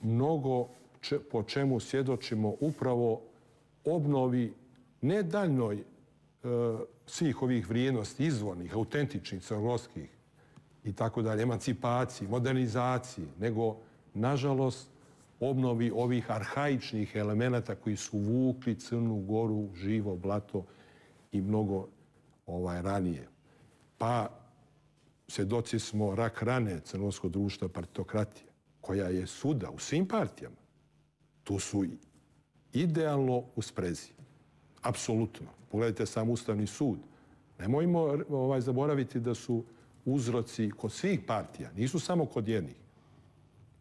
mnogo če, po čemu svjedočimo upravo obnovi ne daljnoj e, svih ovih vrijednosti, izvornih, autentičnih, crnogorskih i tako dalje, emancipaciji, modernizaciji, nego, nažalost, obnovi ovih arhaičnih elemenata koji su vukli Crnu Goru, živo blato i mnogo ovaj, ranije. Pa svjedoci smo rak rane crnogorskog društva partitokratije, koja je svuda u svim partijama. Tu su idealno u sprezi. Apsolutno. Pogledajte sam Ustavni sud. Nemojmo ovaj, zaboraviti da su uzroci kod svih partija, nisu samo kod jednih.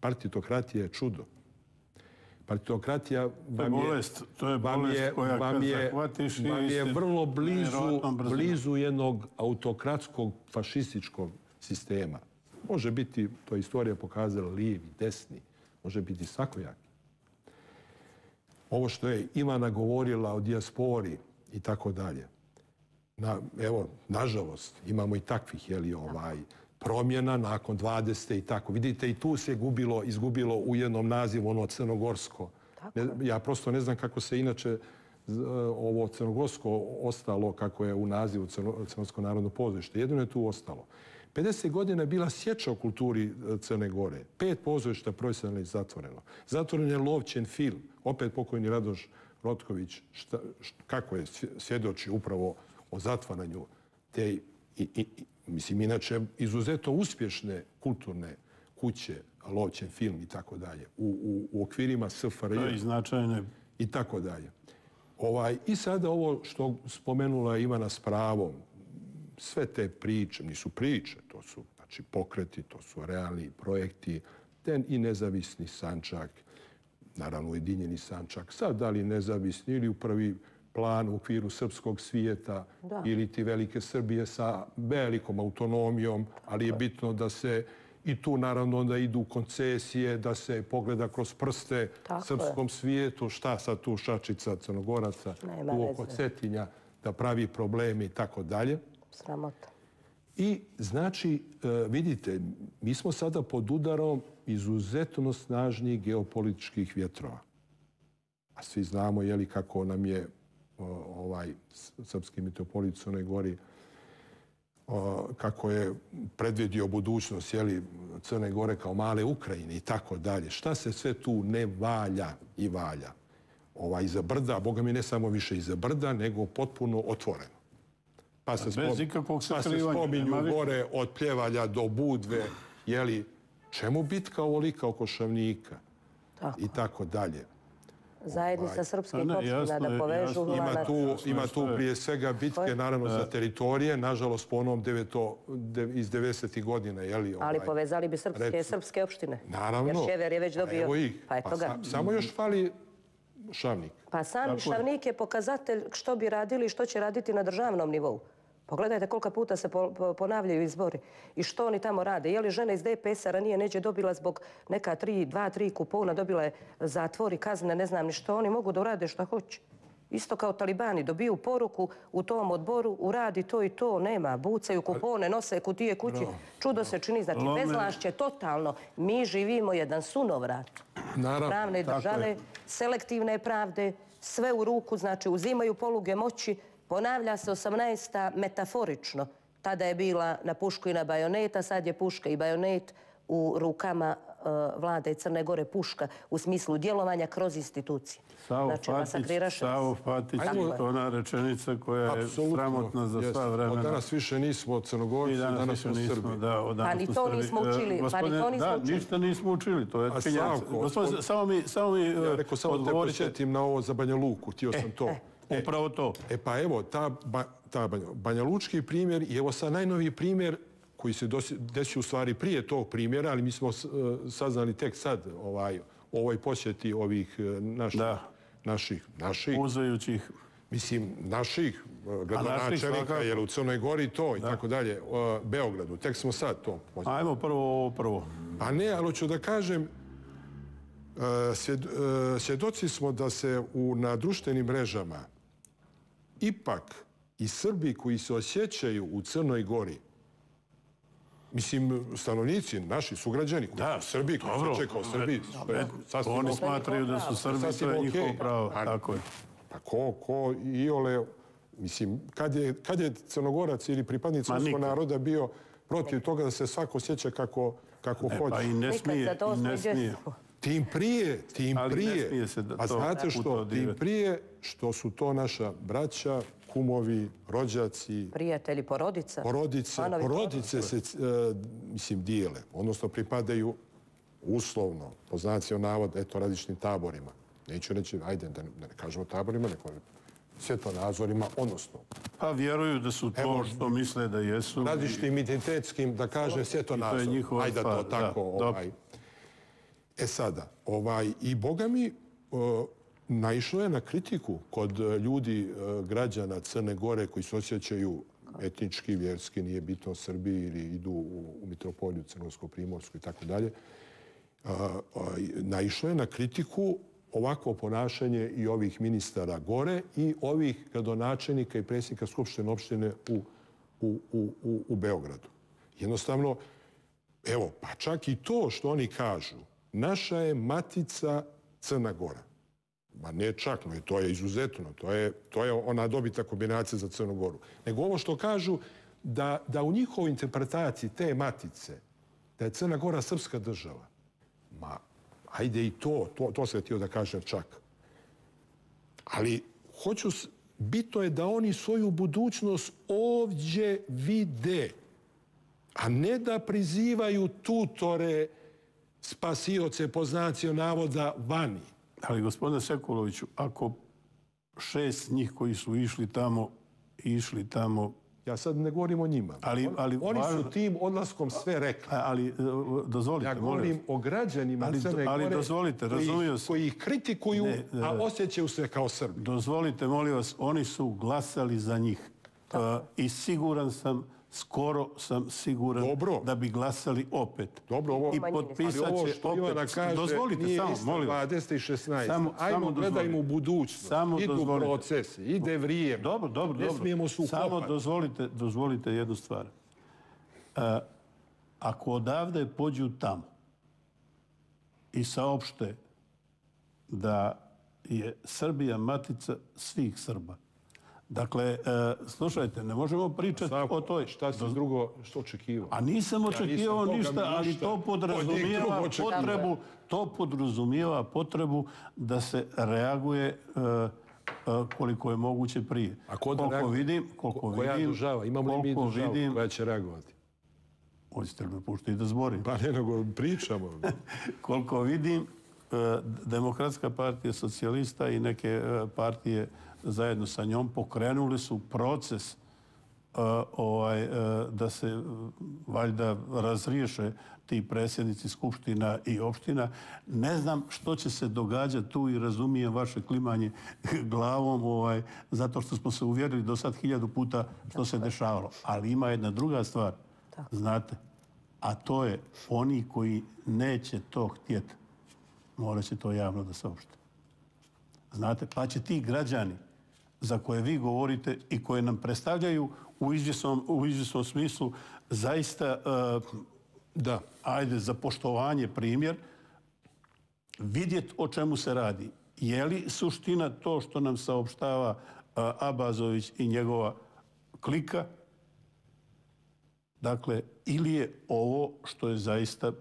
Partitokratija je čudo. Partitokratija vam je, bolest, to je bolest je, koja vam kad je, zahvatiš vam je vrlo blizu, brzinom. blizu jednog autokratskog fašističkog sistema. Može biti, to je istorija pokazala, lijevi, desni, može biti svakojaki. Ovo što je Ivana govorila o dijaspori i tako dalje. Na, evo, nažalost, imamo i takvih, jeli, ovaj, promjena nakon dvadesete i tako. Vidite, i tu se gubilo, izgubilo u jednom nazivu ono crnogorsko. Ne, ja prosto ne znam kako se inače ovo crnogorsko ostalo, kako je u nazivu Crnogorsko narodno pozorište. Jedino je tu ostalo. pedeset godina je bila sječa u kulturi Crne Gore. Pet pozorišta profesionalno zatvoreno. Zatvoren je Lovćen film. Opet pokojni Radoš Rotković, šta, šta, kako je svjedoči upravo o zatvaranju te, i, i, i, mislim, inače, izuzetno uspješne kulturne kuće, Lovćen film i tako dalje, u, u okvirima S F R J i značajne i tako dalje. Ovaj, I sada ovo što spomenula Ivana s pravom, sve te priče, nisu priče, to su znači, pokreti, to su realni projekti, ten i nezavisni Sandžak, naravno ujedinjeni Sandžak, sad da li nezavisni ili u prvi plan u okviru srpskog svijeta Da. ili ti velike Srbije sa velikom autonomijom, ali je bitno da se i tu naravno onda idu koncesije, da se pogleda kroz prste Tako srpskom svijetu, šta sad tu Šačica, Crnogoraca, Nema tu oko veze. Cetinja, da pravi probleme i tako dalje. Sramota. I znači, e, vidite, mi smo sada pod udarom izuzetno snažnih geopolitičkih vjetrova. A svi znamo jeli, kako nam je o, ovaj s- srpski mitropolit u Crnoj Gori o, kako je predvidio budućnost jeli, Crne Gore kao male Ukrajine i tako dalje. Šta se sve tu ne valja i valja? Ovaj, iza brda, Boga mi ne samo više iza brda, nego potpuno otvoreno. Pa se, Bez spom- ikakvog pa se sakrivanja, spominju nema više. gore od Pljevalja do Budve, jeli, čemu bitka ovolika oko Šavnika Tako. i tako dalje. Zajednica srpskih A ne, opština jasno da je, povežu jasno. Ima lanac. tu, Jasno je ima što tu je. prije svega bitke, naravno, za teritorije, nažalost po onom deveto, de, iz devedesetih godina, jeli, Ali ovaj, povezali bi srpske rec- srpske opštine. Naravno. Jer Šever je već Pa dobio... evo ih. Pa eto Pa ga. sa- samo još fali Šavnik. Pa sam Tako je. Šavnik je pokazatelj što bi radili i što će raditi na državnom nivou. Pogledajte koliko puta se po- po- ponavljaju izbori i što oni tamo rade. Je li žena iz D P S-a ranije neđe dobila zbog neka tri, dva, tri kupona, dobila je zatvor i kazne, ne znam ni što. Oni mogu da urade što hoće. Isto kao talibani, dobiju poruku u tom odboru, uradi to i to, nema, bucaju kupone, nose kutije kući. Čudo se čini, znači Lome- bezvlašće totalno. Mi živimo jedan sunovrat Naravno. pravne tako države, je. selektivne pravde, sve u ruku, znači uzimaju poluge moći, ponavlja se osamnaesta metaforično. Tada je bila na pušku i na bajoneta, sad je puška i bajonet u rukama uh, vlade Crne Gore, puška u smislu djelovanja kroz institucije. Savo Znači, Fatić, masakriraš nas. Savo Fatić, Ajmo- je ona rečenica koja je Apsolutno. sramotna za Jeste. sva Od vremena. danas više nismo Crnogorci, Mi danas, danas smo više nismo, Srbi. da, od danas Pa ni smo to Srbi. nismo E, učili, pa ni gospodine, to nismo da, učili. ništa nismo učili, to je A činjenica. Slavko, Gospodine, od- samo mi, samo mi Ja e, rekao, samo te odgovorite. podsjetim na ovo za Banja Luku, htio sam to. Upravo to. E pa evo, ta, ba, ta Banja, Banja Lučki primjer i evo sad najnoviji primjer koji se dosi- desio u stvari prije tog primjera, ali mi smo s- e, saznali tek sad ovaj, o ovoj posjeti ovih e, naših, Da. naših, naših, Uzajućih. mislim, naših e, gradonačelnika, svakako. jer u Crnoj Gori to i tako dalje, e, Beogradu, tek smo sad to posjetili. Ajmo prvo ovo prvo. Pa ne, ali hoću da kažem, e, svjed- e, svjedoci smo da se u, na društvenim mrežama ipak i Srbi koji se osjećaju u Crnoj Gori, mislim, stanovnici, naši sugrađani, koji Da, su Srbi, koji se dobro. osjećaju kao Srbi, to je sasvim Oni ok. smatraju da su Srbi, Sasvim to je ok. njihovo pravo. Pa- Tako je. Pa ko, ko iole, mislim, kad je, kad je Crnogorac ili pripadnik Ma srpskog nikad. naroda bio protiv toga da se svako osjeća kako, kako E, hoće? pa i ne Nikad smije, za to i ne sviđa smije. se. Tim prije, tim Ali ne prije. smije se da A to znate u što? to Tim dirati. prije što su to naša braća, kumovi, rođaci, Prijatelji, porodica. porodice. Članovi Porodice se, e, mislim, dijele, odnosno pripadaju uslovno, po znacima navoda, eto, različitim taborima. Neću reći, ajde, da ne, da ne kažemo taborima, nego svjetonazorima, odnosno Pa vjeruju da su to Evo, što misle da jesu. različitim identitetskim, da kaže, svjetonazor. njihova Ajde stvar, to tako. da, ovaj. E sada, ovaj, i Boga mi, o, naišlo je na kritiku kod e, ljudi, e, građana Crne Gore koji se osjećaju etnički, vjerski, nije bitno Srbi ili idu u, u Mitropoliju, Crnogorsko-Primorsku i tako dalje. A, a, naišlo je na kritiku ovako ponašanje i ovih ministara gore i ovih gradonačelnika i predsjednika Skupštine opštine u, u, u, u, u Beogradu. Jednostavno, evo, pa čak i to što oni kažu, naša je matica Crna Gora. Ma ne čak, no, to je izuzetno, to je, to je ona dobita kombinacija za Crnu Goru. Nego ovo što kažu, da, da u njihovoj interpretaciji te matice, da je Crna Gora srpska država. Ma, ajde i to, to, to sam htio da kažem čak. Ali, hoću, s- bitno je da oni svoju budućnost ovdje vide, a ne da prizivaju tutore spasioce po znacima navoda vani. Ali, gospodine Sekuloviću, ako šest njih koji su išli tamo, išli tamo... Ja sad ne govorim o njima. Ali, ali, Oni važno, su tim odlaskom sve rekli. Ali, e, dozvolite, Ja govorim molim. o građanima Ali, Crne ali Gore dozvolite, koji, razumio sam. koji ih kritikuju, Ne, a osjećaju se kao Srbi. Dozvolite, molim vas, oni su glasali za njih. Uh, I siguran sam, skoro sam siguran Dobro. da bi glasali opet. Dobro, ovo, I ali potpisat ovo će što Ivana opet. kaže Dozvolite, nije samo, isto molim vas. dvadeset i šesnaest. Samo- Ajmo, samo gledajmo u dozvolite. budućnost. Samo Idu dozvolite. procesi, ide vrijeme. Dobro, dobro, Ne dobro. smijemo se Samo ukopati. dozvolite, dozvolite jednu stvar. Uh, ako odavde pođu tamo i saopšte da je Srbija matica svih Srba. Dakle, uh, slušajte, ne možemo pričati Slavko, o toj... šta si drugo što očekivao? A nisam očekivao Boga mi ništa, ali ništa to od njih podrazumijeva drugo očekivao. potrebu, to podrazumijeva potrebu da se reaguje uh, uh, koliko je moguće prije. A ko da koliko reaguje? vidim, koliko Koja vidim, država? Imamo li mi koliko državu vidim, koja će reagovati? hoćete li me puštiti da zborim? Pa ne, nego pričamo. Koliko vidim, uh, Demokratska partija socijalista i neke uh, partije zajedno sa njom pokrenuli su proces uh, ovaj, uh, da se uh, valjda razriješe ti predsjednici skupština i opština. Ne znam što će se događati tu i razumijem vaše klimanje glavom, ovaj, zato što smo se uvjerili do sad hiljadu puta što se dešavalo. Ali ima jedna druga stvar, znate, a to je oni koji neće to htjeti, morat će to javno da saopšte. Znate, pa će ti građani za koje vi govorite i koje nam predstavljaju u izvjesnom, u izvjesnom smislu zaista, uh, Da. ajde, za poštovanje primjer, vidjeti o čemu se radi. Je li suština to što nam saopštava uh, Abazović i njegova klika? Dakle, ili je ovo što je zaista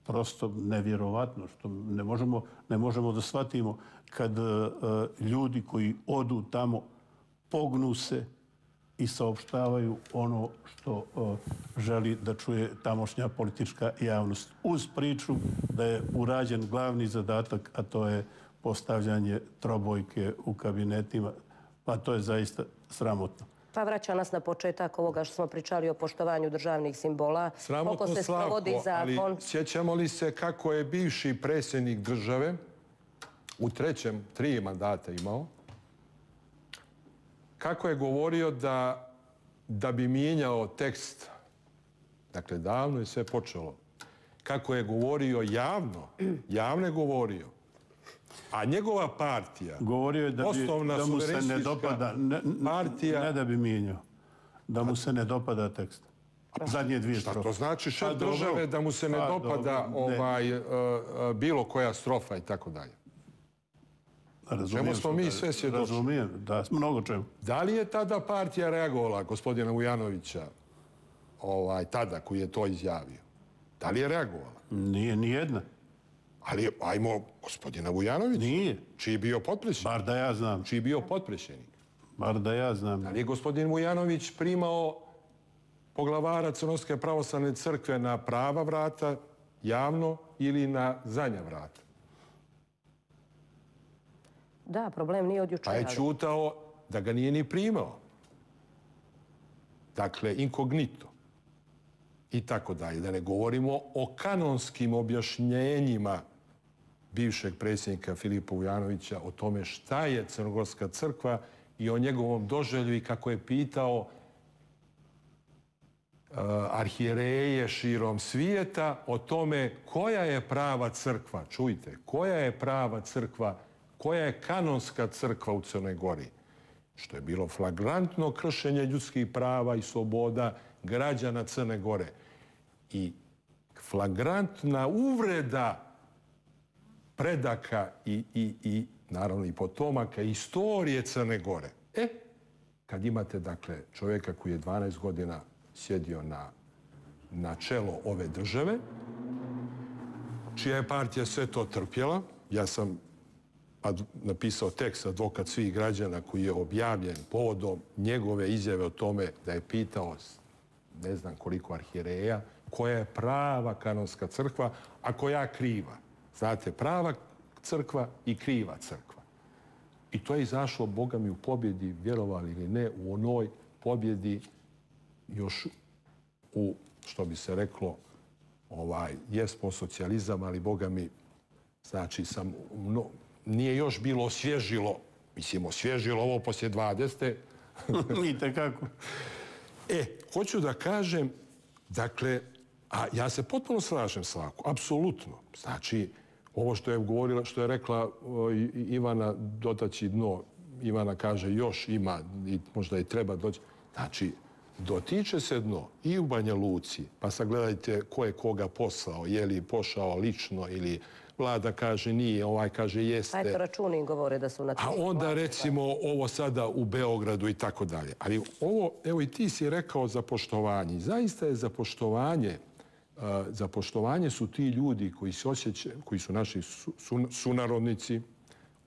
prosto nevjerovatno, što ne možemo, ne možemo da shvatimo kad uh, ljudi koji odu tamo pognu se i saopštavaju ono što uh, želi da čuje tamošnja politička javnost. Uz priču da je urađen glavni zadatak, a to je postavljanje trobojke u kabinetima, pa to je zaista sramotno. Pa vraća nas na početak ovoga što smo pričali o poštovanju državnih simbola. Sramotno, Koliko se Slavko, sprovodi ali zakon. sjećamo li se kako je bivši predsjednik države u trećem, tri mandata imao, kako je govorio da, da bi mijenjao tekst, dakle, davno je sve počelo, kako je govorio javno, javno je govorio, a njegova partija, Govorio je da, bi, osnovna da mu se ne suverenistička dopada, ne, partija... ne da bi mijenjao, da mu se ne dopada tekst. Zadnje dvije Šta strofe. to znači šef Pa dobro. države da mu se ne Pa dopada dobro, ne. ovaj, uh, uh, bilo koja strofa i tako dalje? Razumijem Čemu smo što mi kaže. sve svjedoci? Razumijem, da, mnogo čemu. Da li je tada partija reagovala, gospodina Vujanovića, ovaj, tada koji je to izjavio? Da li je reagovala? Nije ni jedna. Ali ajmo gospodina Vujanovića, Nije. čiji je bio potpredsjednik. Bar da ja znam. Čiji je bio potpredsjednik. Bar da ja znam. Da li je gospodin Vujanović primao poglavara Crnogorske pravoslavne crkve na prava vrata, javno, ili na zadnja vrata? Da, problem nije od Pa jučera. je čutao da ga nije ni primao. Dakle, inkognito. I tako dalje. Da ne govorimo o kanonskim objašnjenjima bivšeg predsjednika Filipa Vujanovića o tome šta je Crnogorska crkva i o njegovom doželju i kako je pitao uh, arhijereje širom svijeta o tome koja je prava crkva. Čujte, koja je prava crkva, koja je kanonska crkva u Crnoj Gori. Što je bilo flagrantno kršenje ljudskih prava i sloboda građana Crne Gore. I flagrantna uvreda predaka i, i, i naravno i potomaka istorije Crne Gore. E, kad imate dakle čovjeka koji je dvanaest godina sjedio na, na čelo ove države, čija je partija sve to trpjela, ja sam ad, napisao tekst Advokat svih građana koji je objavljen povodom njegove izjave o tome da je pitao ne znam koliko arhijereja koja je prava kanonska crkva, a koja kriva. Znate, prava crkva i kriva crkva. I to je izašlo, Boga mi, u pobjedi, vjerovali ili ne, u onoj pobjedi još u, što bi se reklo, ovaj, jesmo socijalizam, ali Boga mi, znači, sam, no, nije još bilo osvježilo, mislim, osvježilo ovo poslije dvadesete. I tekako. E, hoću da kažem, dakle, a ja se potpuno slažem s Lakom, apsolutno. Znači, ovo što je govorila, što je rekla o, Ivana, dotaći dno, Ivana kaže još ima i možda i treba doći. Znači, dotiče se dno i u Banja Luci, pa sagledajte ko je koga poslao, je li pošao lično ili Vlada kaže nije, ovaj kaže jeste. A eto, računi govore da su na A onda recimo ovo sada u Beogradu i tako dalje. Ali ovo, evo i ti si rekao za poštovanje. Zaista je za poštovanje, za poštovanje su ti ljudi koji se osjećaju, koji su naši sunarodnici,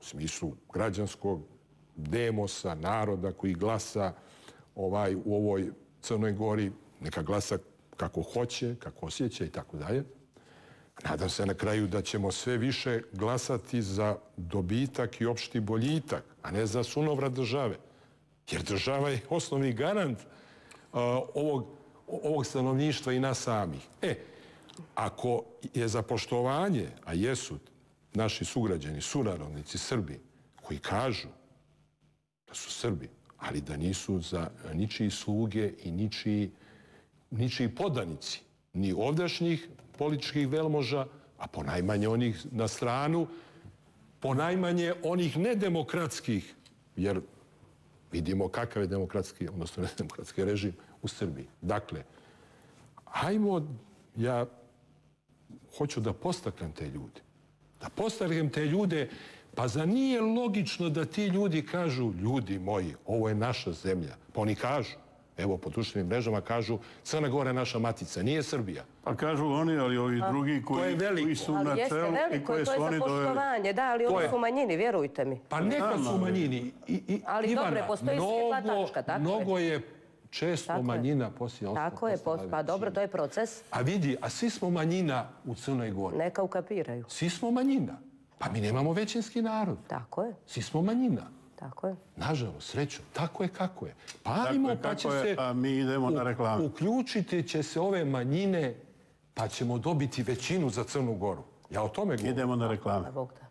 u smislu građanskog demosa, naroda koji glasa ovaj, u ovoj Crnoj Gori, neka glasa kako hoće, kako osjeća i tako dalje. Nadam se na kraju da ćemo sve više glasati za dobitak i opšti boljitak, a ne za sunovrat države. Jer država je osnovni garant uh, ovog, ovog stanovništva i nas samih. E, ako je za poštovanje, a jesu naši sugrađani, sunarodnici, Srbi, koji kažu da su Srbi, ali da nisu za ničiji sluge i ničiji, ničiji podanici, ni ovdašnjih političkih velmoža, a ponajmanje onih na stranu, ponajmanje onih nedemokratskih, jer vidimo kakav je demokratski, odnosno nedemokratski režim u Srbiji. Dakle, hajmo, ja hoću da postaknem te ljude. Da postaknem te ljude, pa za nije logično da ti ljudi kažu, ljudi moji, ovo je naša zemlja. Pa oni kažu, evo po društvenim mrežama kažu, Crna Gora je naša matica, nije Srbija. Pa kažu oni, ali ovi drugi koji, koji su na čelu i koje su oni doveli. To je za poštovanje, da, ali oni su u manjini, vjerujte mi. Pa neka su u manjini. Ali dobro, postoji svijetla tačka, tako je. Mnogo je često manjina poslije ostalo. Tako je, pa dobro, to je proces. A vidi, a svi smo manjina u Crnoj Gori. Neka ukapiraju. Svi smo manjina. Pa mi nemamo većinski narod. Tako je. Svi smo manjina. Tako je. Nažalost, srećom, tako je kako je. Pa ajmo, pa će se... A mi idemo na reklamu. Uključiti će se ove manjine, pa ćemo dobiti većinu za Crnu Goru. Ja o tome govorim. Idemo na reklamu. Bog da.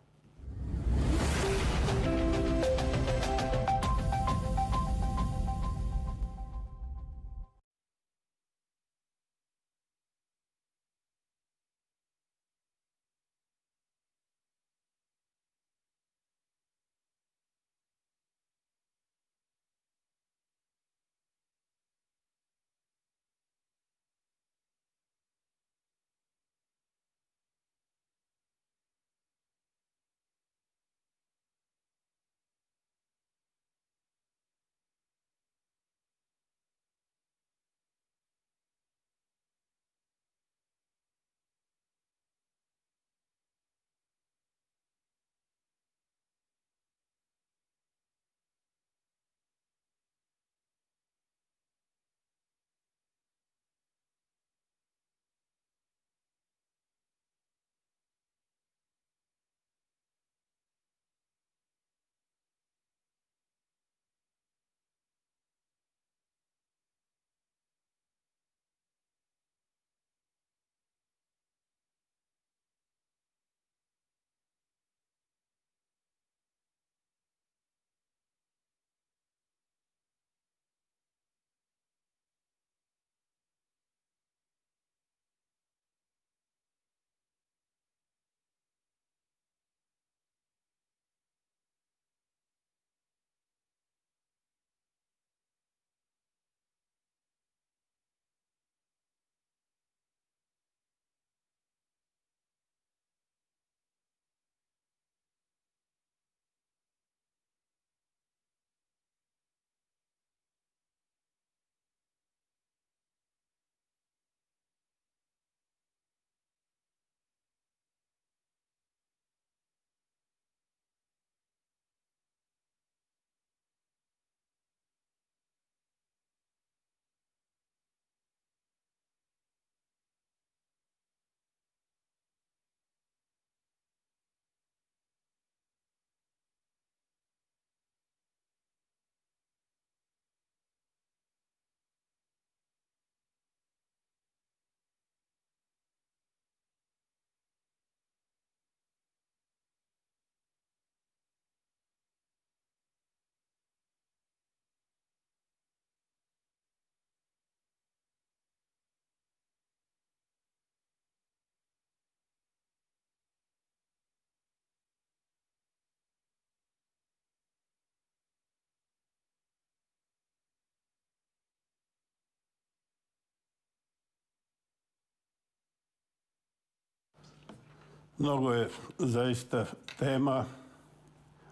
Mnogo je zaista tema,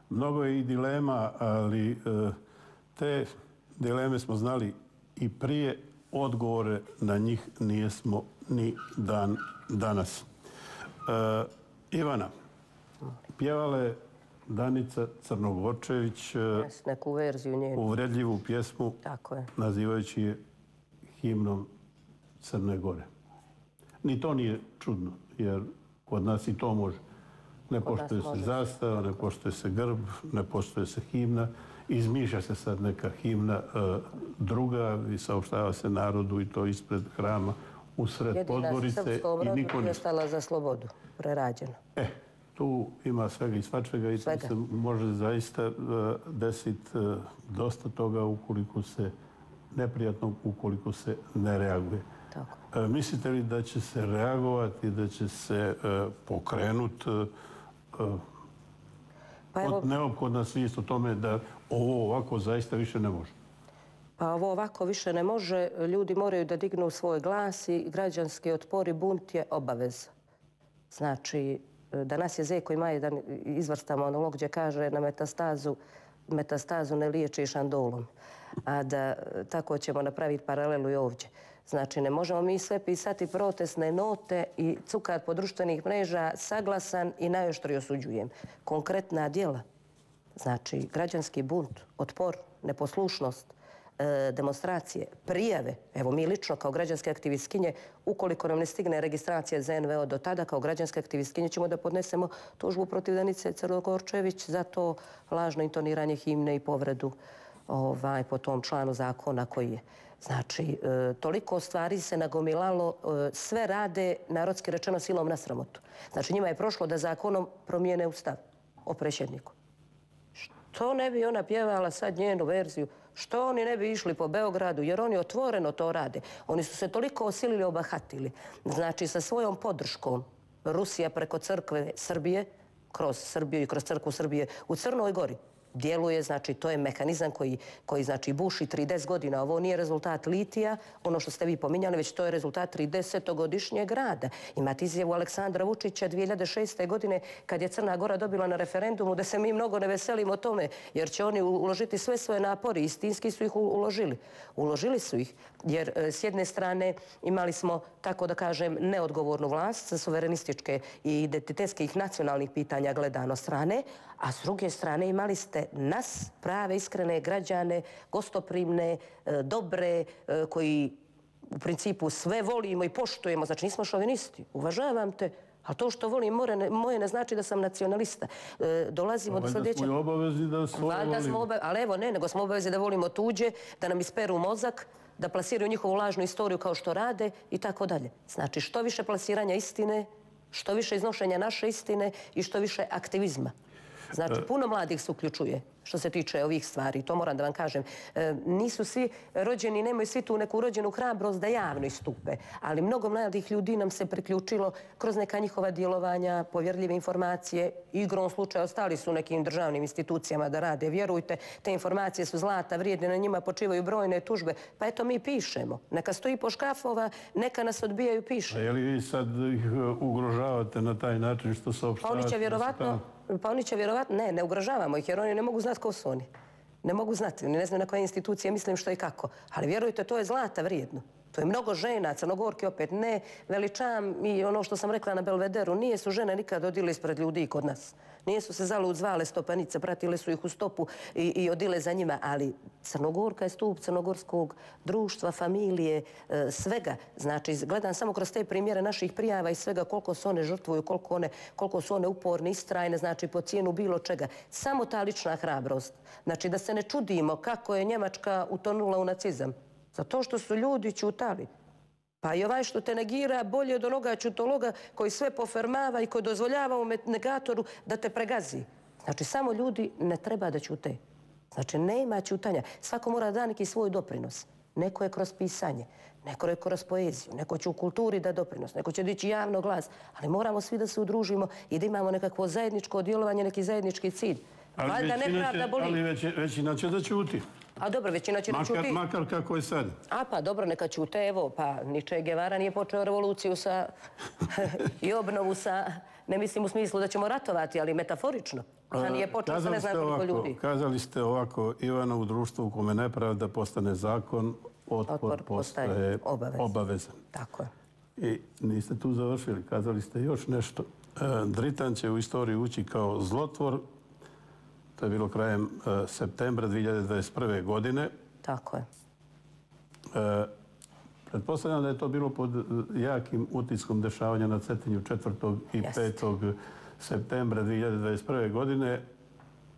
mnogo je i dilema, ali e, te dileme smo znali i prije, odgovore na njih nijesmo ni dan danas. E, Ivana, pjevala je Danica Crnogorčević neku verziju njenu. uvredljivu pjesmu, Tako je. nazivajući je himnom Crne Gore. Ni to nije čudno, jer kod nas i to može. Ne poštuje se zastava, ne poštuje se grb, ne poštuje se himna. Izmišlja se sad neka himna druga i saopštava se narodu i to ispred hrama usred Podgorice. Jedina srpskom rodu je stala za slobodu, prerađena. E, tu ima svega i svačega i tu se može zaista desiti dosta toga ukoliko se neprijatno, ukoliko se ne reaguje. Tako. Mislite li da će se reagovati, da će se pokrenuti neophodna svijest o tome da ovo ovako zaista više ne može? Pa ovo ovako više ne može. Ljudi moraju da dignu svoj glas i građanski otpor i bunt je obaveza. Znači, danas je Zeko ima jedan izvrstan monolog gdje kaže na metastazu metastazu ne liječi šandolom. A da tako ćemo napraviti paralelu i ovdje. Znači, ne možemo mi sve pisati protestne note i cukat po društvenih mreža, saglasan i najoštrije osuđujem. Konkretna djela, znači građanski bunt, otpor, neposlušnost, demonstracije, prijave. Evo mi lično kao građanske aktivistkinje, ukoliko nam ne stigne registracija za en ve o do tada, kao građanske aktivistkinje ćemo da podnesemo tužbu protiv Danice Crnogorčević za to lažno intoniranje himne i povredu po tom članu zakona koji je. Znači, toliko stvari se nagomilalo, sve rade, narodski rečeno, silom na sramotu. Znači, njima je prošlo da zakonom promijene ustav o predsjedniku. Što ne bi ona pjevala sad njenu verziju? Što oni ne bi išli po Beogradu? Jer oni otvoreno to rade. Oni su se toliko osilili, obahatili. Znači, sa svojom podrškom Rusija preko crkve Srbije, kroz Srbiju i kroz crkvu Srbije u Crnoj Gori, djeluje, znači to je mehanizam koji, koji znači buši trideset godina. Ovo nije rezultat litija, ono što ste vi pominjali, već to je rezultat tridesetogodišnjeg rada. Imate izjavu Aleksandra Vučića dvije hiljade šeste. godine kad je Crna Gora dobila na referendumu da se mi mnogo ne veselimo tome jer će oni uložiti sve svoje napori. Istinski su ih uložili. Uložili su ih jer s jedne strane imali smo, tako da kažem, neodgovornu vlast sa suverenističke i identitetskih nacionalnih pitanja gledano strane, a s druge strane imali ste nas, prave, iskrene građane, gostoprimne, dobre, koji u principu sve volimo i poštujemo. Znači, nismo šovinisti. Uvažavam te, ali to što volim moje ne znači da sam nacionalista. Dolazimo do sljedećeg... Valjda smo i obavezi da svoje volimo. Ali evo, ne, nego smo obavezi da volimo tuđe, da nam isperu mozak, da plasiraju njihovu lažnu istoriju kao što rade i tako dalje. Znači, što više plasiranja istine, što više iznošenja naše istine i što više aktivizma. Znači, puno mladih se uključuje što se tiče ovih stvari. To moram da vam kažem. Nisu svi rođeni, nemaju svi tu neku rođenu hrabrost da javno istupe. Ali mnogo mladih ljudi nam se priključilo kroz neka njihova djelovanja, povjerljive informacije. Igrom slučaja ostali su nekim državnim institucijama da rade. Vjerujte, te informacije su zlata, vrijedne, na njima počivaju brojne tužbe. Pa eto, mi pišemo. Neka stoji po škafova, neka nas odbijaju, piše. A je li vi sad ih ugrožavate na taj način što saopštavate? Pa oni će vjerovatno... Pa oni će vjerovatno, ne, ne ugrožavamo ih jer oni ne mogu znati ko su oni. Ne mogu znati, oni ne znaju na koje institucije, mislim što i kako. Ali vjerujte, to je zlata vrijedno. To je mnogo žena, Crnogorki opet ne veličam i ono što sam rekla na Belvederu, nije su žene nikad odile ispred ljudi kod nas. Nije su se zalud zvale stopanice, pratile su ih u stopu i, i odile za njima, ali Crnogorka je stup crnogorskog društva, familije, e, svega. Znači, gledam samo kroz te primjere naših prijava i svega koliko se one žrtvuju, koliko, one, koliko su one uporne, istrajne, znači po cijenu bilo čega. Samo ta lična hrabrost. Znači, da se ne čudimo kako je Njemačka utonula u nacizam. Zato što su ljudi ćutali. Pa i ovaj što te negira bolje od onoga ćutologa koji sve pofermava i koji dozvoljava u negatoru da te pregazi. Znači, samo ljudi ne treba da ćute. Znači, nema ćutanja. Svako mora da neki svoj doprinos. Neko je kroz pisanje, neko je kroz poeziju, neko će u kulturi da doprinos, neko će dići javno glas, ali moramo svi da se udružimo i da imamo nekakvo zajedničko djelovanje, neki zajednički cilj. Ali većina će da ćuti. A dobro, većina će da ćuti. Makar kako je sad. A pa dobro, neka ćute, evo, pa ni Che Guevara nije počeo revoluciju sa i obnovu sa ne mislim u smislu da ćemo ratovati, ali metaforično. A nije počeo sa ne znam koliko ljudi. Kazali ste ovako, Ivana, u društvu u kome nepravda postane zakon, otpor, Otpor postaje postaje obavezan. obavezan. Tako je. I niste tu završili, kazali ste još nešto. E, Dritan će u istoriji ući kao zlotvor, to je bilo krajem e, septembra dvije hiljade dvadeset prve. godine. Tako je. E, Pretpostavljam da je to bilo pod jakim utiskom dešavanja na Cetinju četvrtog i petog septembra dvije hiljade dvadeset prve. godine.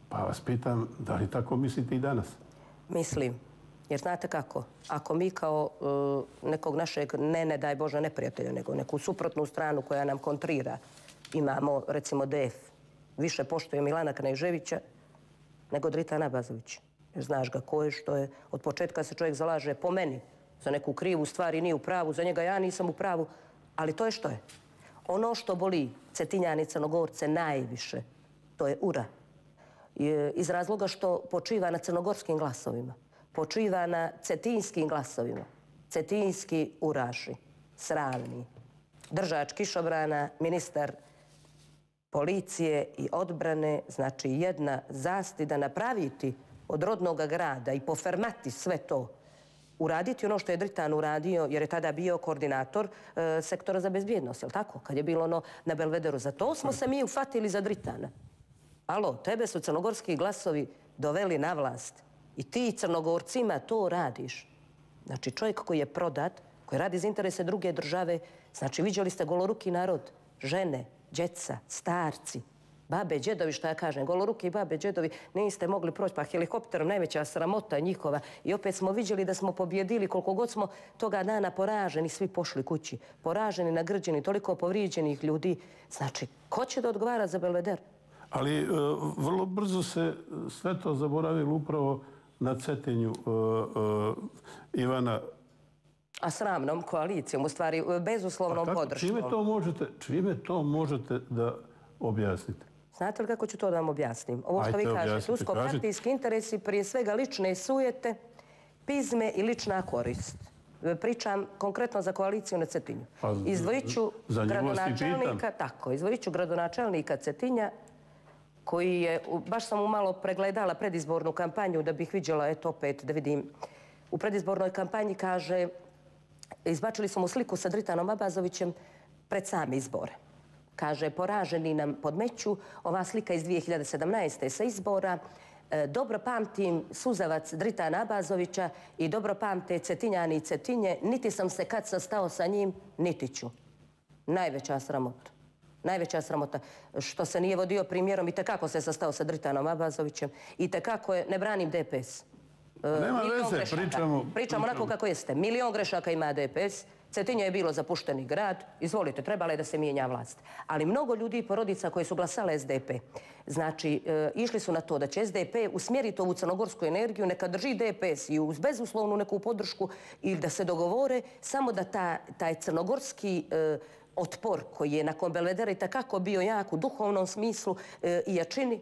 Pa vas pitam, da li tako mislite i danas? Mislim. Jer znate kako? Ako mi kao uh, nekog našeg, ne ne daj Bože neprijatelja, nego neku suprotnu stranu koja nam kontrira, imamo recimo D F, više poštuje Milana Kneževića nego Dritana Abazovića. Jer znaš ga ko je, što je. Od početka se čovjek zalaže po meni za neku krivu stvar i nije u pravu, za njega ja nisam u pravu, ali to je što je. Ono što boli Cetinjane i Crnogorce najviše, to je ura. Iz razloga što počiva na crnogorskim glasovima, počiva na cetinskim glasovima. Cetinski uraši, sravni, držač kišobrana, ministar policije i odbrane, znači jedna zastida napraviti od rodnog grada i pofermati sve to, uraditi ono što je Dritan uradio, jer je tada bio koordinator e, sektora za bezbjednost, je li tako? Kad je bilo ono na Belvederu. Za to smo se mi ufatili za Dritana. Alo, tebe su crnogorski glasovi doveli na vlast i ti Crnogorcima to radiš. Znači čovjek koji je prodat, koji radi za interese druge države, znači viđali ste goloruki narod, žene, djeca, starci, babe, džedovi, što ja kažem, goloruki babe, džedovi, niste mogli proći, pa helikopterom najveća sramota njihova. I opet smo viđali da smo pobjedili, koliko god smo toga dana poraženi, svi pošli kući. Poraženi, nagrđeni, toliko povrijeđenih ljudi. Znači, ko će da odgovara za Belveder? Ali e, vrlo brzo se sve to zaboravilo upravo na Cetinju e, e, Ivana. A sramnom koalicijom, u stvari, bezuslovnom podrškom. Čime to možete, čime to možete da objasnite? Znate li kako ću to da vam objasnim? Ovo što vi kažete, usko-partijski interesi, prije svega lične sujete, pizme i lična korist. Pričam konkretno za koaliciju na Cetinju. Izdvojit ću gradonačelnika, tako, izdvojit ću gradonačelnika Cetinja, koji je, baš sam mu malo pregledala predizbornu kampanju da bih vidjela, eto opet da vidim, u predizbornoj kampanji kaže, izbačili smo mu sliku sa Dritanom Abazovićem pred same izbore. Kaže, poraženi nam podmeću, ova slika iz dvije hiljade sedamnaeste. sa izbora, dobro pamtim suzavac Dritana Abazovića i dobro pamte Cetinjani i Cetinje, niti sam se kad sastao sa njim, niti ću. Najveća sramota. Najveća sramota što se nije vodio primjerom i tekako se sastao sa Dritanom Abazovićem i tekako je, ne branim D P S. Nema veze, pričamo... Pričamo onako kako jeste. Milion grešaka ima D P S, Cetinje je bilo zapušteni grad, izvolite, trebalo je da se mijenja vlast. Ali mnogo ljudi i porodica koji su glasale S D P, znači, e, išli su na to da će S D P usmjeriti ovu crnogorsku energiju, neka drži D P S i uz bezuslovnu neku podršku ili da se dogovore, samo da ta, taj crnogorski e, otpor koji je nakon Belvedera i takako bio jak u duhovnom smislu e, i jačini,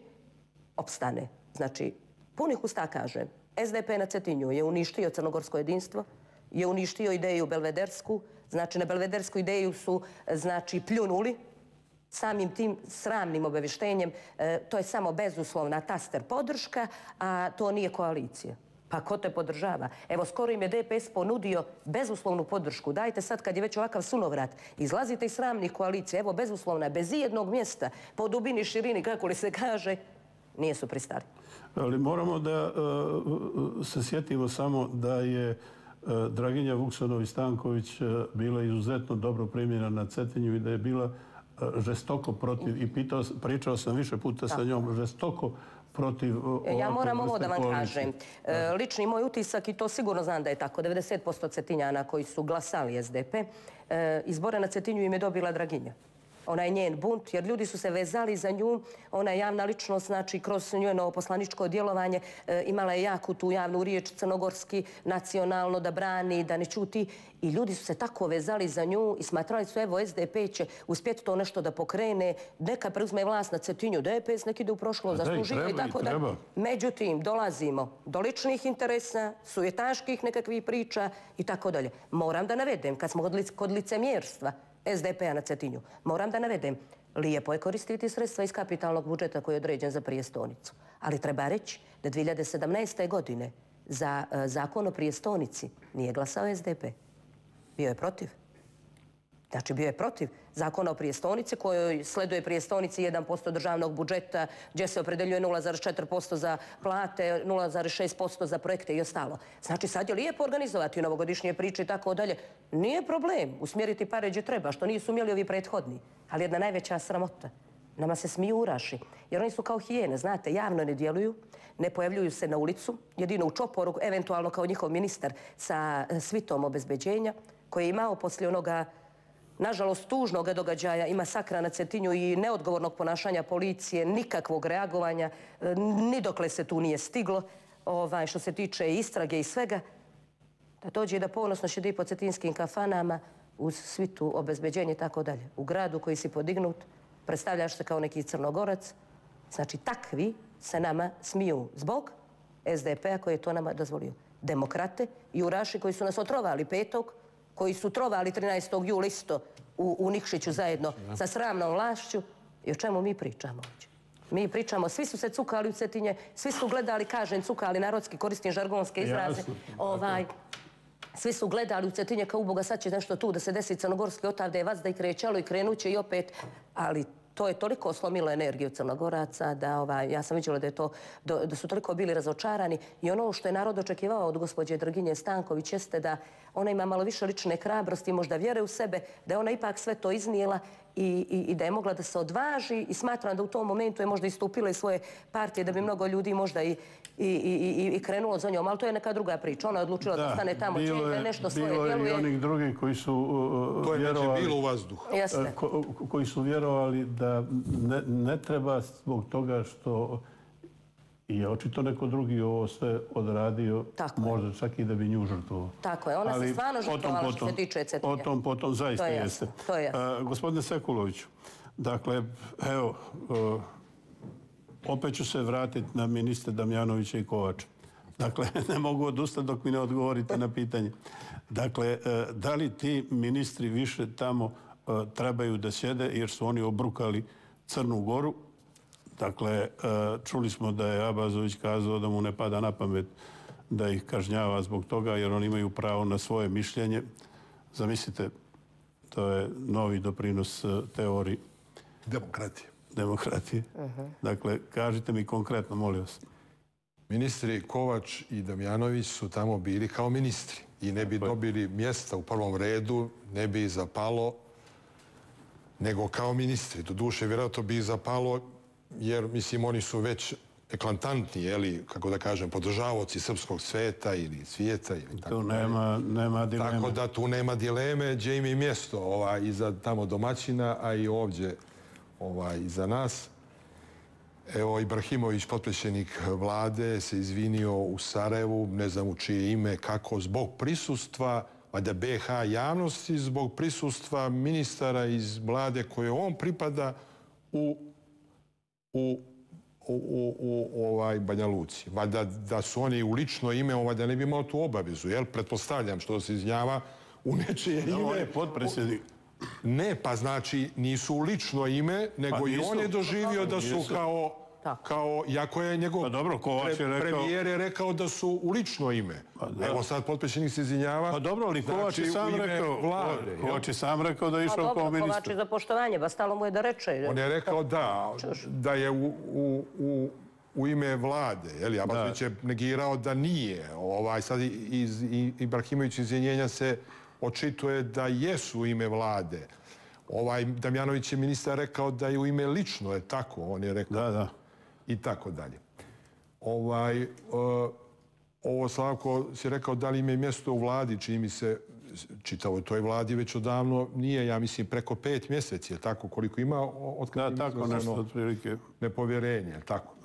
opstane. Znači, punih usta kažem, S D P na Cetinju je uništio crnogorsko jedinstvo, je uništio ideju belvedersku, znači na belvedersku ideju su znači pljunuli samim tim sramnim obavještenjem, e, to je samo bezuslovna taster podrška, a to nije koalicija. Pa ko te podržava? Evo, skoro im je D P S ponudio bezuslovnu podršku. Dajte sad, kad je već ovakav sunovrat, izlazite iz sramnih koalicija, evo, bezuslovna, bez ijednog mjesta, po dubini, širini, kako li se kaže, nije su pristali. Ali moramo da uh, se sjetimo samo da je uh, Draginja Vuksanović-Stanković uh, bila izuzetno dobro primljena na Cetinju i da je bila uh, žestoko protiv, i pitao, pričao sam više puta sa njom, žestoko protiv ovakve. Ja moram ovo da vam kažem. E, lični moj utisak, i to sigurno znam da je tako, devedeset posto Cetinjana koji su glasali S D P, e, izbore na Cetinju im je dobila Draginja. Ona je njen bunt, jer ljudi su se vezali za nju. Ona je javna ličnost, znači kroz njeno poslaničko djelovanje e, imala je jaku tu javnu riječ, crnogorski, nacionalno, da brani, da ne čuti. I ljudi su se tako vezali za nju i smatrali su, evo, S D P će uspjeti to nešto da pokrene, neka preuzme vlast na Cetinju, D P S nek ide u prošlo, zaslužio i tako da. Međutim, dolazimo do ličnih interesa, sujetaških nekakvih priča i tako dalje. Moram da navedem, kad smo kod licemjerstva S D P-a na Cetinju, moram da navedem, Lijepo je koristiti sredstva iz kapitalnog budžeta koji je određen za prijestolnicu. Ali treba reći da dvije hiljade sedamnaeste. godine za zakon o prijestolnici nije glasao S D P. Bio je protiv. Znači, bio je protiv zakona o prijestolnici kojoj sleduje prijestolnici jedan posto državnog budžeta gdje se opredeljuje nula zarez četiri posto za plate, nula zarez šest posto za projekte i ostalo. Znači, sad je lijepo organizovati novogodišnje priče i tako dalje. Nije problem usmjeriti pare gdje treba, što nisu umjeli ovi prethodni. Ali jedna najveća sramota. Nama se smiju uraši. Jer oni su kao hijene, znate, javno ne djeluju, ne pojavljuju se na ulicu, jedino u čoporu, eventualno kao njihov ministar sa svitom obezbeđenja, koji je imao poslije onoga, nažalost, tužnog događaja i masakra na Cetinju i neodgovornog ponašanja policije, nikakvog reagovanja, ni dokle se tu nije stiglo, ovaj, što se tiče istrage i svega, da dođe i da ponosno šedi po cetinskim kafanama uz svitu obezbeđenje i tako dalje. U gradu koji si podignut, predstavljaš se kao neki Crnogorac. Znači, takvi se nama smiju zbog S D P-a koji je to nama dozvolio. Demokrate i uraši koji su nas otrovali petog, koji su trovali trinaestog jula isto u, u Nikšiću zajedno sa sramnom vlašću. I o čemu mi pričamo ovdje? Mi pričamo, svi su se cukali u Cetinje, svi su gledali, kažem, cukali narodski, koristim žargonske izraze. Ovaj, svi su gledali u Cetinje kao uboga, sad će nešto tu da se desi crnogorski, otavde je vazda i krećalo i krenuće i opet, ali to je toliko slomilo energiju Crnogoraca da ovaj, ja sam vidjela da, je to, da, da su toliko bili razočarani i ono što je narod očekivao od gospođe Draginje Stanković jeste da ona ima malo više lične hrabrosti, možda vjere u sebe, da je ona ipak sve to iznijela i, i, i da je mogla da se odvaži i smatram da u tom momentu je možda istupila iz svoje partije da bi mnogo ljudi možda i, i, i, i krenulo za njom, ali to je neka druga priča. Ona je odlučila da, da stane tamo, da nešto svoje djeluje. Bilo je i onih drugih koji su uh, to je vjerovali, bilo u vazduhu. Ko, koji su vjerovali da ne, ne treba zbog toga što je očito neko drugi ovo sve odradio, tako možda je. čak i da bi nju žrtvovao. Tako je, ona ali se stvarno žrtvovala što se tiče Cetinja. O tom potom zaista to je jeste. To je jasno. Uh, gospodine Sekuloviću, dakle, evo, uh, opet ću se vratiti na ministre Damjanovića i Kovača. Dakle, ne mogu odustati dok mi ne odgovorite na pitanje. Dakle, uh, da li ti ministri više tamo uh, trebaju da sjede jer su oni obrukali Crnu Goru? Dakle, čuli smo da je Abazović kazao da mu ne pada na pamet da ih kažnjava zbog toga jer oni imaju pravo na svoje mišljenje. Zamislite, to je novi doprinos teoriji demokratije. Demokratije. Uh-huh. Dakle, kažite mi konkretno, molim vas. Ministri Kovač i Damjanović su tamo bili kao ministri i ne bi dobili mjesta u prvom redu, ne bi zapalo nego kao ministri. Doduše, vjerojatno bi zapalo jer, mislim, oni su već eklatantni, jeli, kako da kažem, podržavaoci srpskog sveta ili svijeta. Ili tako tu nema, nema dileme. Tako da tu nema dileme, gdje im je mjesto ovaj, iza tamo domaćina, a i ovdje ovaj, iza nas. Evo, Ibrahimović, potpredsjednik vlade, se izvinio u Sarajevu, ne znam u čije ime, kako, zbog prisustva, valjda B H javnosti, zbog prisustva ministara iz vlade koje on pripada u u, u, u, u ovaj Banja Luci. Valjda da su oni u lično ime, on valjda ne bi imao tu obavezu, jel? Pretpostavljam što se izjava u nečije ime. Da, on je potpredsjednik. Ne, pa znači nisu u lično ime, nego pa i on je doživio da su kao, kao, jako je njegov pa dobro, Kovač je rekao, premijer je rekao da su u lično ime. Pa evo sad potpredsjednik se izvinjava. Pa dobro, ali Kovač je sam rekao, vlade, Kovač je sam rekao da je išao pa kao ministar. Kovač je za poštovanje, ba stalo mu je da reče. On je rekao da, da je u, u, u, u ime vlade, jel? Abazović je negirao da nije. Ovaj, sad iz Ibrahimović izvinjenja se očituje da jesu u ime vlade. Ovaj Damjanović je ministar rekao da je u ime lično, je tako, on je rekao. Da, da. I tako dalje. Ovaj, uh, ovo Slavko si rekao da li im je mjesto u vladi, čini mi se, čitavo toj vladi već odavno nije, ja mislim, preko pet mjeseci, je tako, koliko ima od kada da, tako nešto otprilike. Nepovjerenje, tako.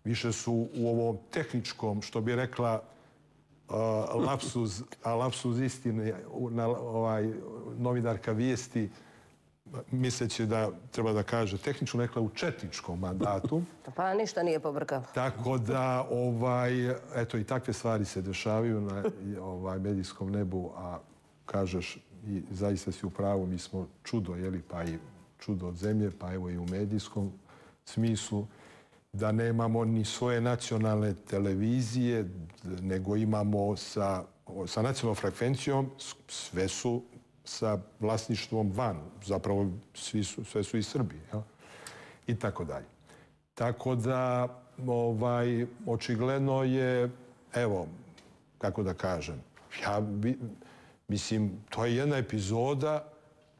Više su u ovom tehničkom, što bi rekla uh, lapsus, a lapsus istine, na, ovaj, novinarka Vijesti, misleći da treba da kaže tehnično, nekla u četničkom mandatu. Pa ništa nije pobrkalo. Tako da, ovaj, eto, i takve stvari se dešavaju na ovaj, medijskom nebu, a kažeš, i zaista si u pravu, mi smo čudo, jeli, pa i čudo od zemlje, pa evo i u medijskom smislu, da nemamo ni svoje nacionalne televizije, nego imamo sa, sa nacionalnom frekvencijom, sve su sa vlasništvom van, zapravo svi su, sve su iz Srbije, jel? I tako dalje. Tako da, ovaj, očigledno je, evo, kako da kažem, ja bi, mislim, to je jedna epizoda,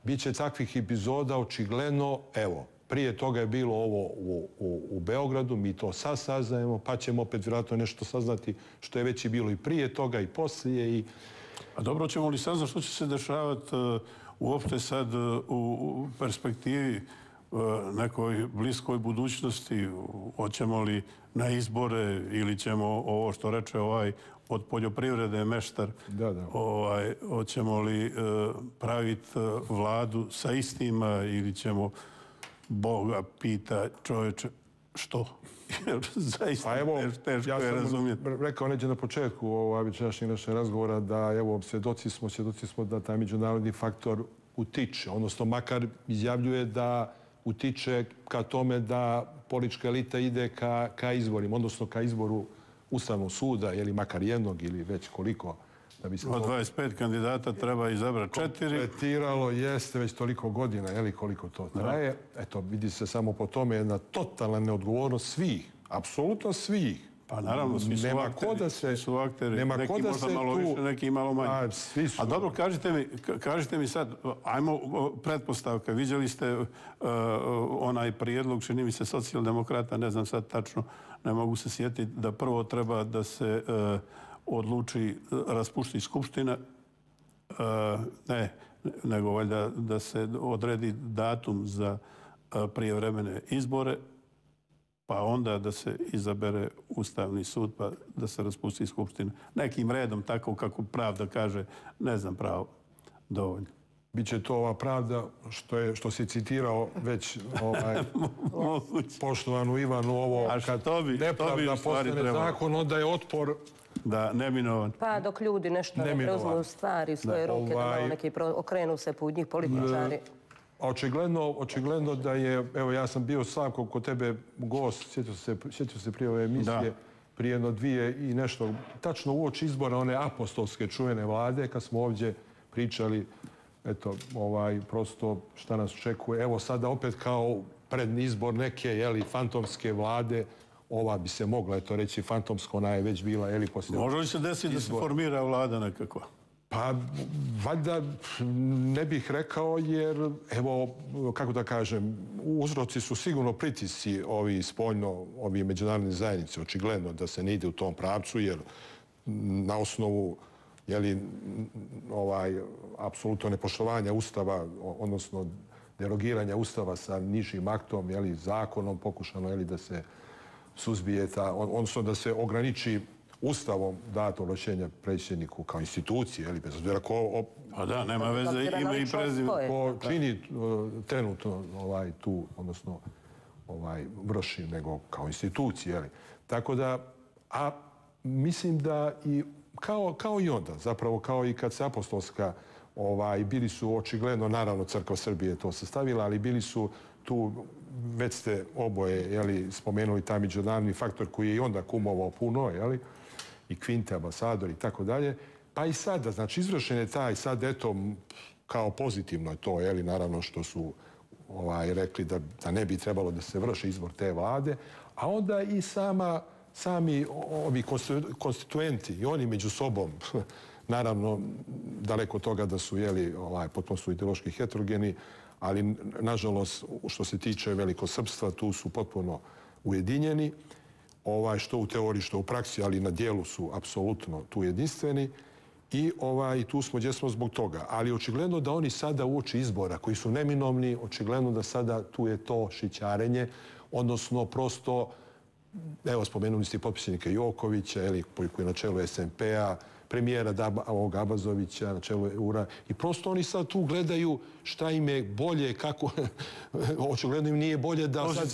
bit će takvih epizoda očigledno, evo, prije toga je bilo ovo u, u, u Beogradu, mi to sad saznajemo, pa ćemo opet vjerojatno nešto saznati što je već i bilo i prije toga i poslije. I... A dobro, ćemo li saznati što će se dešavati uh, uopšte sad uh, u perspektivi uh, nekoj bliskoj budućnosti? Hoćemo li na izbore ili ćemo ovo što reče ovaj od poljoprivrede meštar, da, da. Ovaj, hoćemo li uh, praviti uh, vladu sa istima ili ćemo Boga pita čovječe što? Zaista pa evo, teško ja je razumjeti. Ja sam rekao neđe na početku ovaj večerašnjeg našeg razgovora da evo svjedoci smo, svjedoci smo da taj međunarodni faktor utiče, odnosno makar izjavljuje da utiče ka tome da politička elita ide ka, ka izborima, odnosno ka izboru Ustavnog suda, ili makar jednog ili već koliko. Da bi se od dvadeset pet kandidata treba izabrati četiri. Kompletiralo jeste već toliko godina, je li koliko to traje. Eto, vidi se samo po tome jedna totalna neodgovornost svih, apsolutno svih. Pa naravno, svi su nema akteri. Ko da se, svi su akteri. Nema neki ko da možda se malo tu, više, neki malo manje. A, svi su. A dobro, kažite mi, kažite mi sad, ajmo pretpostavka, vidjeli ste uh, onaj prijedlog, čini mi se socijaldemokrata, ne znam sad tačno, ne mogu se sjetiti, da prvo treba da se uh, odluči raspušti skupština, uh, ne, nego valjda da se odredi datum za uh, prijevremene izbore, pa onda da se izabere Ustavni sud, pa da se raspusti skupština. Nekim redom, tako kako pravda kaže, ne znam pravo dovoljno. Biće to ova pravda što je što si citirao već ovaj poštovanu Ivanu ovo a kad to bi, nepravda to bi postane zakon, onda je otpor da neminovan. Pa dok ljudi nešto ne preuzmu stvari u svoje ruke, da malo neki okrenu se put njih političari. Očigledno, očigledno da je, evo ja sam bio Slavko kod tebe gost, sjetio se, sjetio se prije ove emisije, da. Prije jedno dvije i nešto, tačno uoči izbora one apostolske čuvene vlade, kad smo ovdje pričali, eto, ovaj, prosto šta nas očekuje. Evo sada opet kao predni izbor neke, jeli, fantomske vlade, ova bi se mogla, eto, reći fantomsko, ona je već bila, jeli, poslije... Može li se desiti da se formira vlada nekakva? Pa, valjda ne bih rekao jer, evo, kako da kažem, uzroci su sigurno pritisci ovi spoljno, ovi međunarodne zajednice, očigledno da se ne ide u tom pravcu jer na osnovu, jeli, ovaj, apsolutno nepoštovanja Ustava, odnosno derogiranja Ustava sa nižim aktom, jeli, zakonom pokušano, jeli, da se suzbije ta, odnosno da se ograniči Ustavom dato ovlašćenja predsjedniku kao institucije, ili bez obzira ko... Pa da, nema veze, ime i prezime. Ko čini trenutno ovaj, tu, odnosno ovaj, vrši, nego kao institucije, jeli. Tako da, a mislim da i kao, kao i onda, zapravo kao i kad se apostolska, ovaj, bili su očigledno, naravno Crkva Srbije to sastavila, ali bili su tu, već ste oboje, jeli, spomenuli taj međunarodni faktor koji je i onda kumovao puno, jeli, i Kvinte, ambasador i tako dalje. Pa i sada, znači, izvršen je taj, sad, eto, kao pozitivno je to, jeli, naravno što su ovaj, rekli da, da ne bi trebalo da se vrši izbor te vlade, a onda i sama, sami ovi konstituenti i oni među sobom, naravno, daleko od toga da su, jeli, ovaj, potpuno su ideološki heterogeni, ali, nažalost, što se tiče velikosrpstva, tu su potpuno ujedinjeni, ovaj, što u teoriji, što u praksi, ali na dijelu su apsolutno tu jedinstveni i ovaj, tu smo gdje smo zbog toga. Ali očigledno da oni sada uoči izbora, koji su neminovni, očigledno da sada tu je to šićarenje, odnosno prosto, evo, spomenuli ste potpisnika Jokovića, eli, koji je na čelu es en pe-a, premijera ovog Abazovića na čelu E U R-a i prosto oni sad tu gledaju šta im je bolje, kako, očigledno im nije bolje da, sad,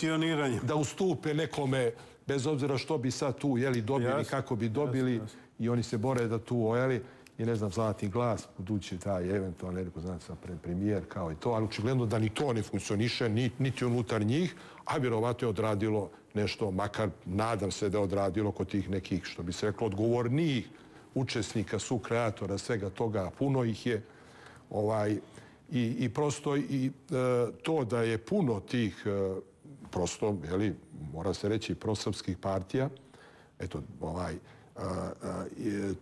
da ustupe nekome, bez obzira što bi sad tu, jeli, dobili, jasne, kako bi dobili, jasne, jasne. I oni se bore da tu, jeli, i ne znam, Zlatni glas, budući taj eventualno neko znači sa premijer kao i to, ali očigledno da ni to ne funkcioniše, niti unutar njih, a vjerovatno je odradilo nešto, makar nadam se da je odradilo kod tih nekih, što bi se reklo, odgovornijih učesnika, su kreatora svega toga, a puno ih je. Ovaj, i, I prosto i e, to da je puno tih, e, prosto, jeli, mora se reći, prosrpskih partija, eto, ovaj, a, a,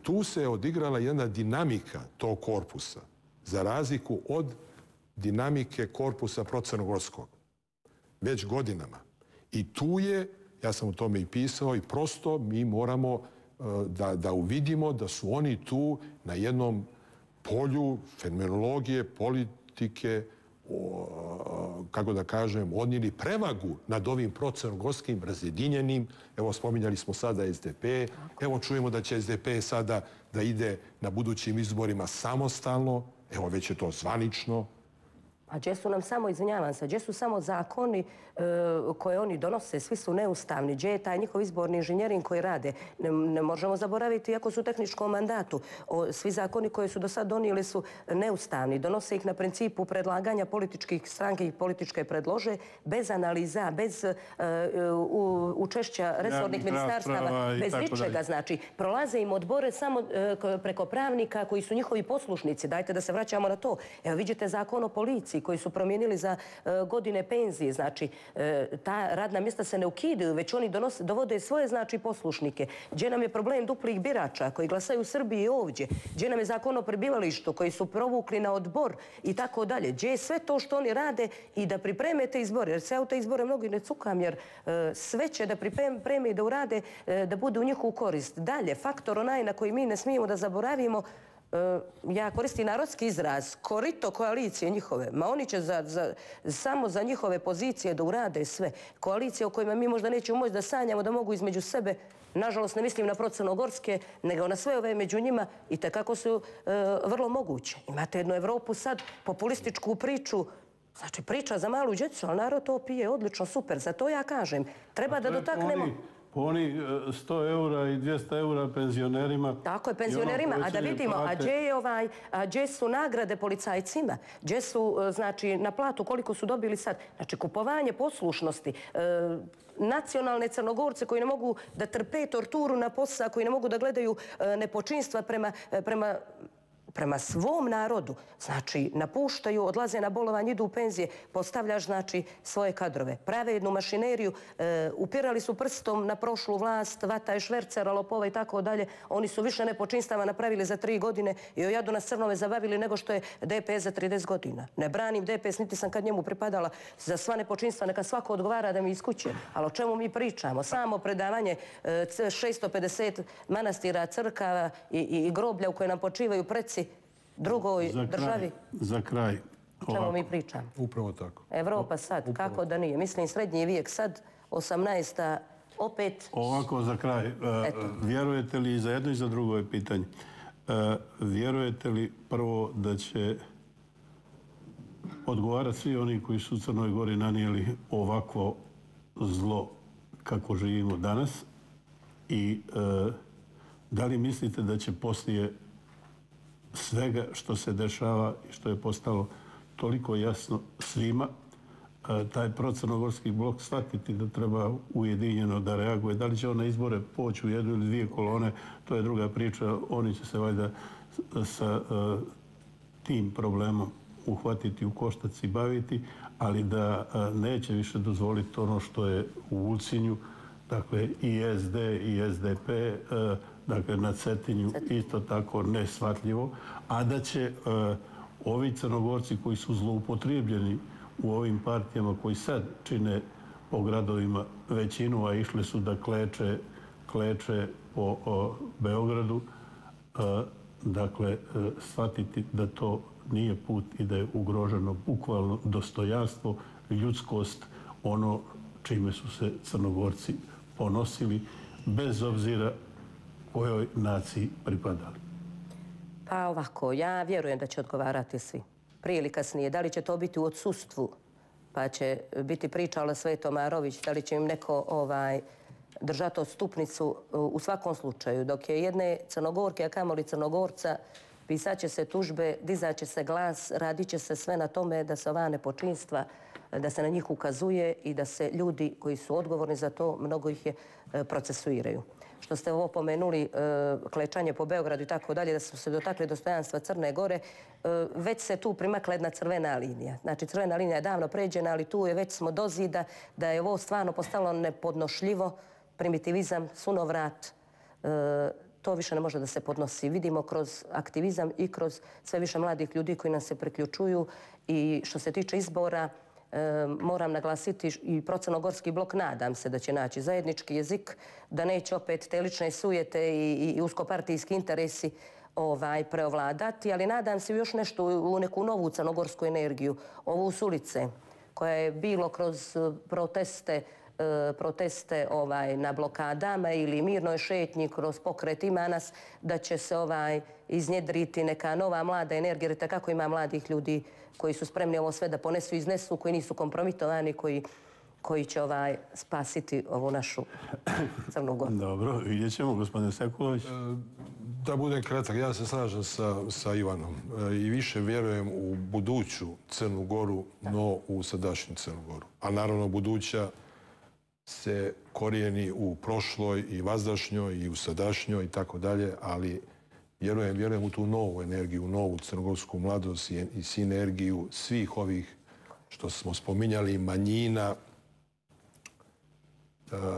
tu se odigrala jedna dinamika tog korpusa, za razliku od dinamike korpusa procrnogorskog, već godinama. I tu je, ja sam o tome i pisao, i prosto mi moramo da, da uvidimo da su oni tu na jednom polju fenomenologije, politike, o, kako da kažem, odnijeli prevagu nad ovim procrnogorskim razjedinjenim. Evo, spominjali smo sada S D P. Evo, čujemo da će S D P sada da ide na budućim izborima samostalno. Evo, već je to zvanično. A gdje su nam samo, izvinjavam se, gdje su samo zakoni e, koje oni donose, svi su neustavni, gdje je taj njihov izborni inženjering koji rade. Ne, ne možemo zaboraviti, iako su u tehničkom mandatu, o, svi zakoni koje su do sad donijeli su neustavni. Donose ih na principu predlaganja političkih stranke i političke predlože, bez analiza, bez e, u, učešća resornih ministarstava, bez ničega. Znači, prolaze im odbore samo e, preko pravnika koji su njihovi poslušnici. Dajte da se vraćamo na to. Evo, vidite zakon o policiji koji su promijenili za e, godine penzije. Znači, e, ta radna mjesta se ne ukidaju, već oni donose, dovode svoje, znači, poslušnike. Gdje nam je problem duplih birača koji glasaju u Srbiji i ovdje? Gdje nam je zakon o prebivalištu koji su provukli na odbor i tako dalje? Gdje je sve to što oni rade i da pripreme te izbore? Jer se ja u te izbore mnogi ne cukam, jer e, sve će da pripreme i da urade, e, da bude u njihovu korist. Dalje, faktor onaj na koji mi ne smijemo da zaboravimo, ja koristim narodski izraz, korito koalicije njihove, ma oni će za, za, samo za njihove pozicije da urade sve. Koalicije o kojima mi možda nećemo moći da sanjamo da mogu između sebe, nažalost ne mislim na procrnogorske, nego na sve ove među njima i tekako su e, vrlo moguće. Imate jednu Evropu sad, populističku priču, znači priča za malu djecu, ali narod to pije odlično, super, za to ja kažem. Treba da dotaknemo... Po oni sto eura i dvjesto eura penzionerima. Tako je, penzionerima. A da vidimo, a gdje je ovaj, a gdje su nagrade policajcima? Gdje su, znači, na platu, koliko su dobili sad? Znači, kupovanje poslušnosti, e, nacionalne Crnogorce koji ne mogu da trpe torturu na posao, koji ne mogu da gledaju e, nepočinstva prema, prema prema svom narodu, znači, napuštaju, odlaze na bolovanje, idu u penzije, postavljaš, znači, svoje kadrove. Prave jednu mašineriju, e, upirali su prstom na prošlu vlast, vata švercera, lopova i tako dalje. Oni su više nepočinstava napravili za tri godine i o jadu nas crnove zabavili nego što je D P S za trideset godina. Ne branim D P S, niti sam kad njemu pripadala za sva nepočinstva, neka svako odgovara da mi iz kuće. Ali o čemu mi pričamo? Samo predavanje e, šesto pedeset manastira, crkava i, i, i groblja u koje nam počivaju preci drugoj za državi. Za kraj. O čemu mi pričamo? Upravo tako. Evropa sad, Upravo. Kako da nije? Mislim, srednji vijek sad, osamnaesta opet... Ovako za kraj. Eto. Vjerujete li, za jedno i za drugo je pitanje, vjerujete li prvo da će odgovarati svi oni koji su u Crnoj Gori nanijeli ovakvo zlo kako živimo danas i da li mislite da će poslije svega što se dešava i što je postalo toliko jasno svima, taj procrnogorski blok shvatiti da treba ujedinjeno da reaguje. Da li će on na izbore poći u jednu ili dvije kolone, to je druga priča. Oni će se valjda sa tim problemom uhvatiti u koštac i baviti, ali da neće više dozvoliti ono što je u Ulcinju, dakle i S D i S D P, dakle na Cetinju isto tako neshvatljivo, a da će uh, ovi Crnogorci koji su zloupotrijebljeni u ovim partijama koji sad čine po gradovima većinu, a išli su da kleče, kleče po o, Beogradu, uh, dakle uh, shvatiti da to nije put i da je ugroženo bukvalno dostojanstvo, ljudskost, ono čime su se Crnogorci ponosili, bez obzira kojoj naciji pripadali. Pa ovako, ja vjerujem da će odgovarati svi. Prije ili kasnije. Da li će to biti u odsustvu, pa će biti pričala Sveto Marović, da li će im neko ovaj, držati odstupnicu u svakom slučaju. Dok je jedne Crnogorke, a kamoli Crnogorca, pisat će se tužbe, dizat će se glas, radit će se sve na tome da se ova nepočinstva, da se na njih ukazuje i da se ljudi koji su odgovorni za to, mnogo ih je, procesuiraju. Što ste ovo pomenuli, klečanje po Beogradu i tako dalje, da su se dotakli dostojanstva Crne Gore, već se tu primakla jedna crvena linija. Znači, crvena linija je davno pređena, ali tu je već smo do zida da je ovo stvarno postalo nepodnošljivo, primitivizam, sunovrat, to više ne može da se podnosi. Vidimo kroz aktivizam i kroz sve više mladih ljudi koji nam se priključuju i što se tiče izbora, moram naglasiti i procrnogorski blok, nadam se da će naći zajednički jezik, da neće opet te lične sujete i, i uskopartijski interesi ovaj, preovladati, ali nadam se još nešto u neku novu crnogorsku energiju, ovu s ulice, koja je bilo kroz proteste proteste ovaj, na blokadama ili mirnoj šetnji kroz pokret Ima nas, da će se ovaj, iznjedriti neka nova mlada energija, jer tako ima mladih ljudi koji su spremni ovo sve da ponesu i iznesu, koji nisu kompromitovani, koji, koji će ovaj, spasiti ovu našu Crnu Goru. Dobro, vidjet ćemo, gospodine Sekulović. Da budem kratak, ja se slažem sa, sa Ivanom i više vjerujem u buduću Crnu Goru, no u sadašnju Crnu Goru. A naravno buduća se korijeni u prošloj i vazdašnjoj i u sadašnjoj i tako dalje, ali vjerujem, vjerujem u tu novu energiju, novu crnogorsku mladost i, i sinergiju svih ovih što smo spominjali, manjina,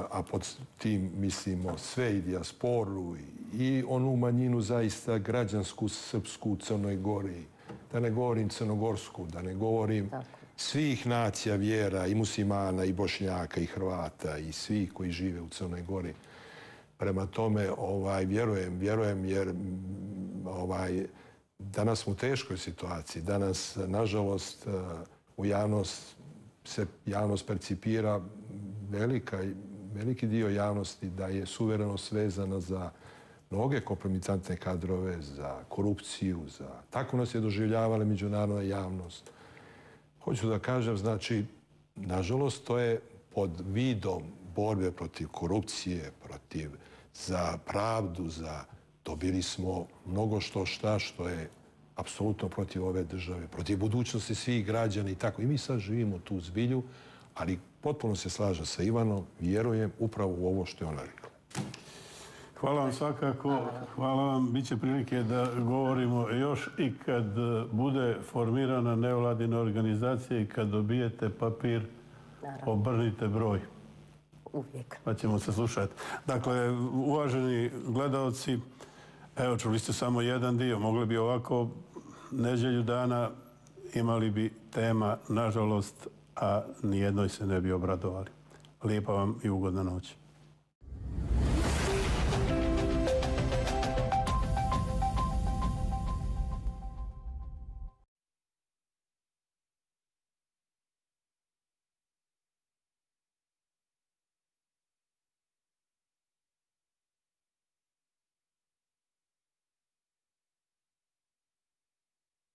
a pod tim mislimo sve i dijasporu i onu manjinu zaista građansku, srpsku u Crnoj Gori, da ne govorim crnogorsku, da ne govorim svih nacija, vjera, i muslimana, i bošnjaka, i Hrvata, i svih koji žive u Crnoj Gori. Prema tome, ovaj, vjerujem, vjerujem, jer ovaj, danas smo u teškoj situaciji. Danas, nažalost, u javnost se javnost percipira, velika, veliki dio javnosti da je suverenost vezana za mnoge kompromitantne kadrove, za korupciju, za... Tako nas je doživljavala međunarodna javnost. Hoću da kažem, znači, nažalost, to je pod vidom borbe protiv korupcije, protiv za pravdu, za... Dobili smo mnogo što šta što je apsolutno protiv ove države, protiv budućnosti svih građana i tako. I mi sad živimo tu zbilju, ali potpuno se slažem sa Ivanom, vjerujem upravo u ovo što je ona rekla. Hvala vam svakako, hvala vam. Biće prilike da govorimo još i kad bude formirana nevladina organizacija i kad dobijete papir, obrnite broj. Uvijek. Pa ćemo se slušati. Dakle, uvaženi gledalci, evo, čuli ste samo jedan dio. Mogli bi ovako neđelju dana, imali bi tema, nažalost, a nijednoj se ne bi obradovali. Lijepa vam i ugodna noć.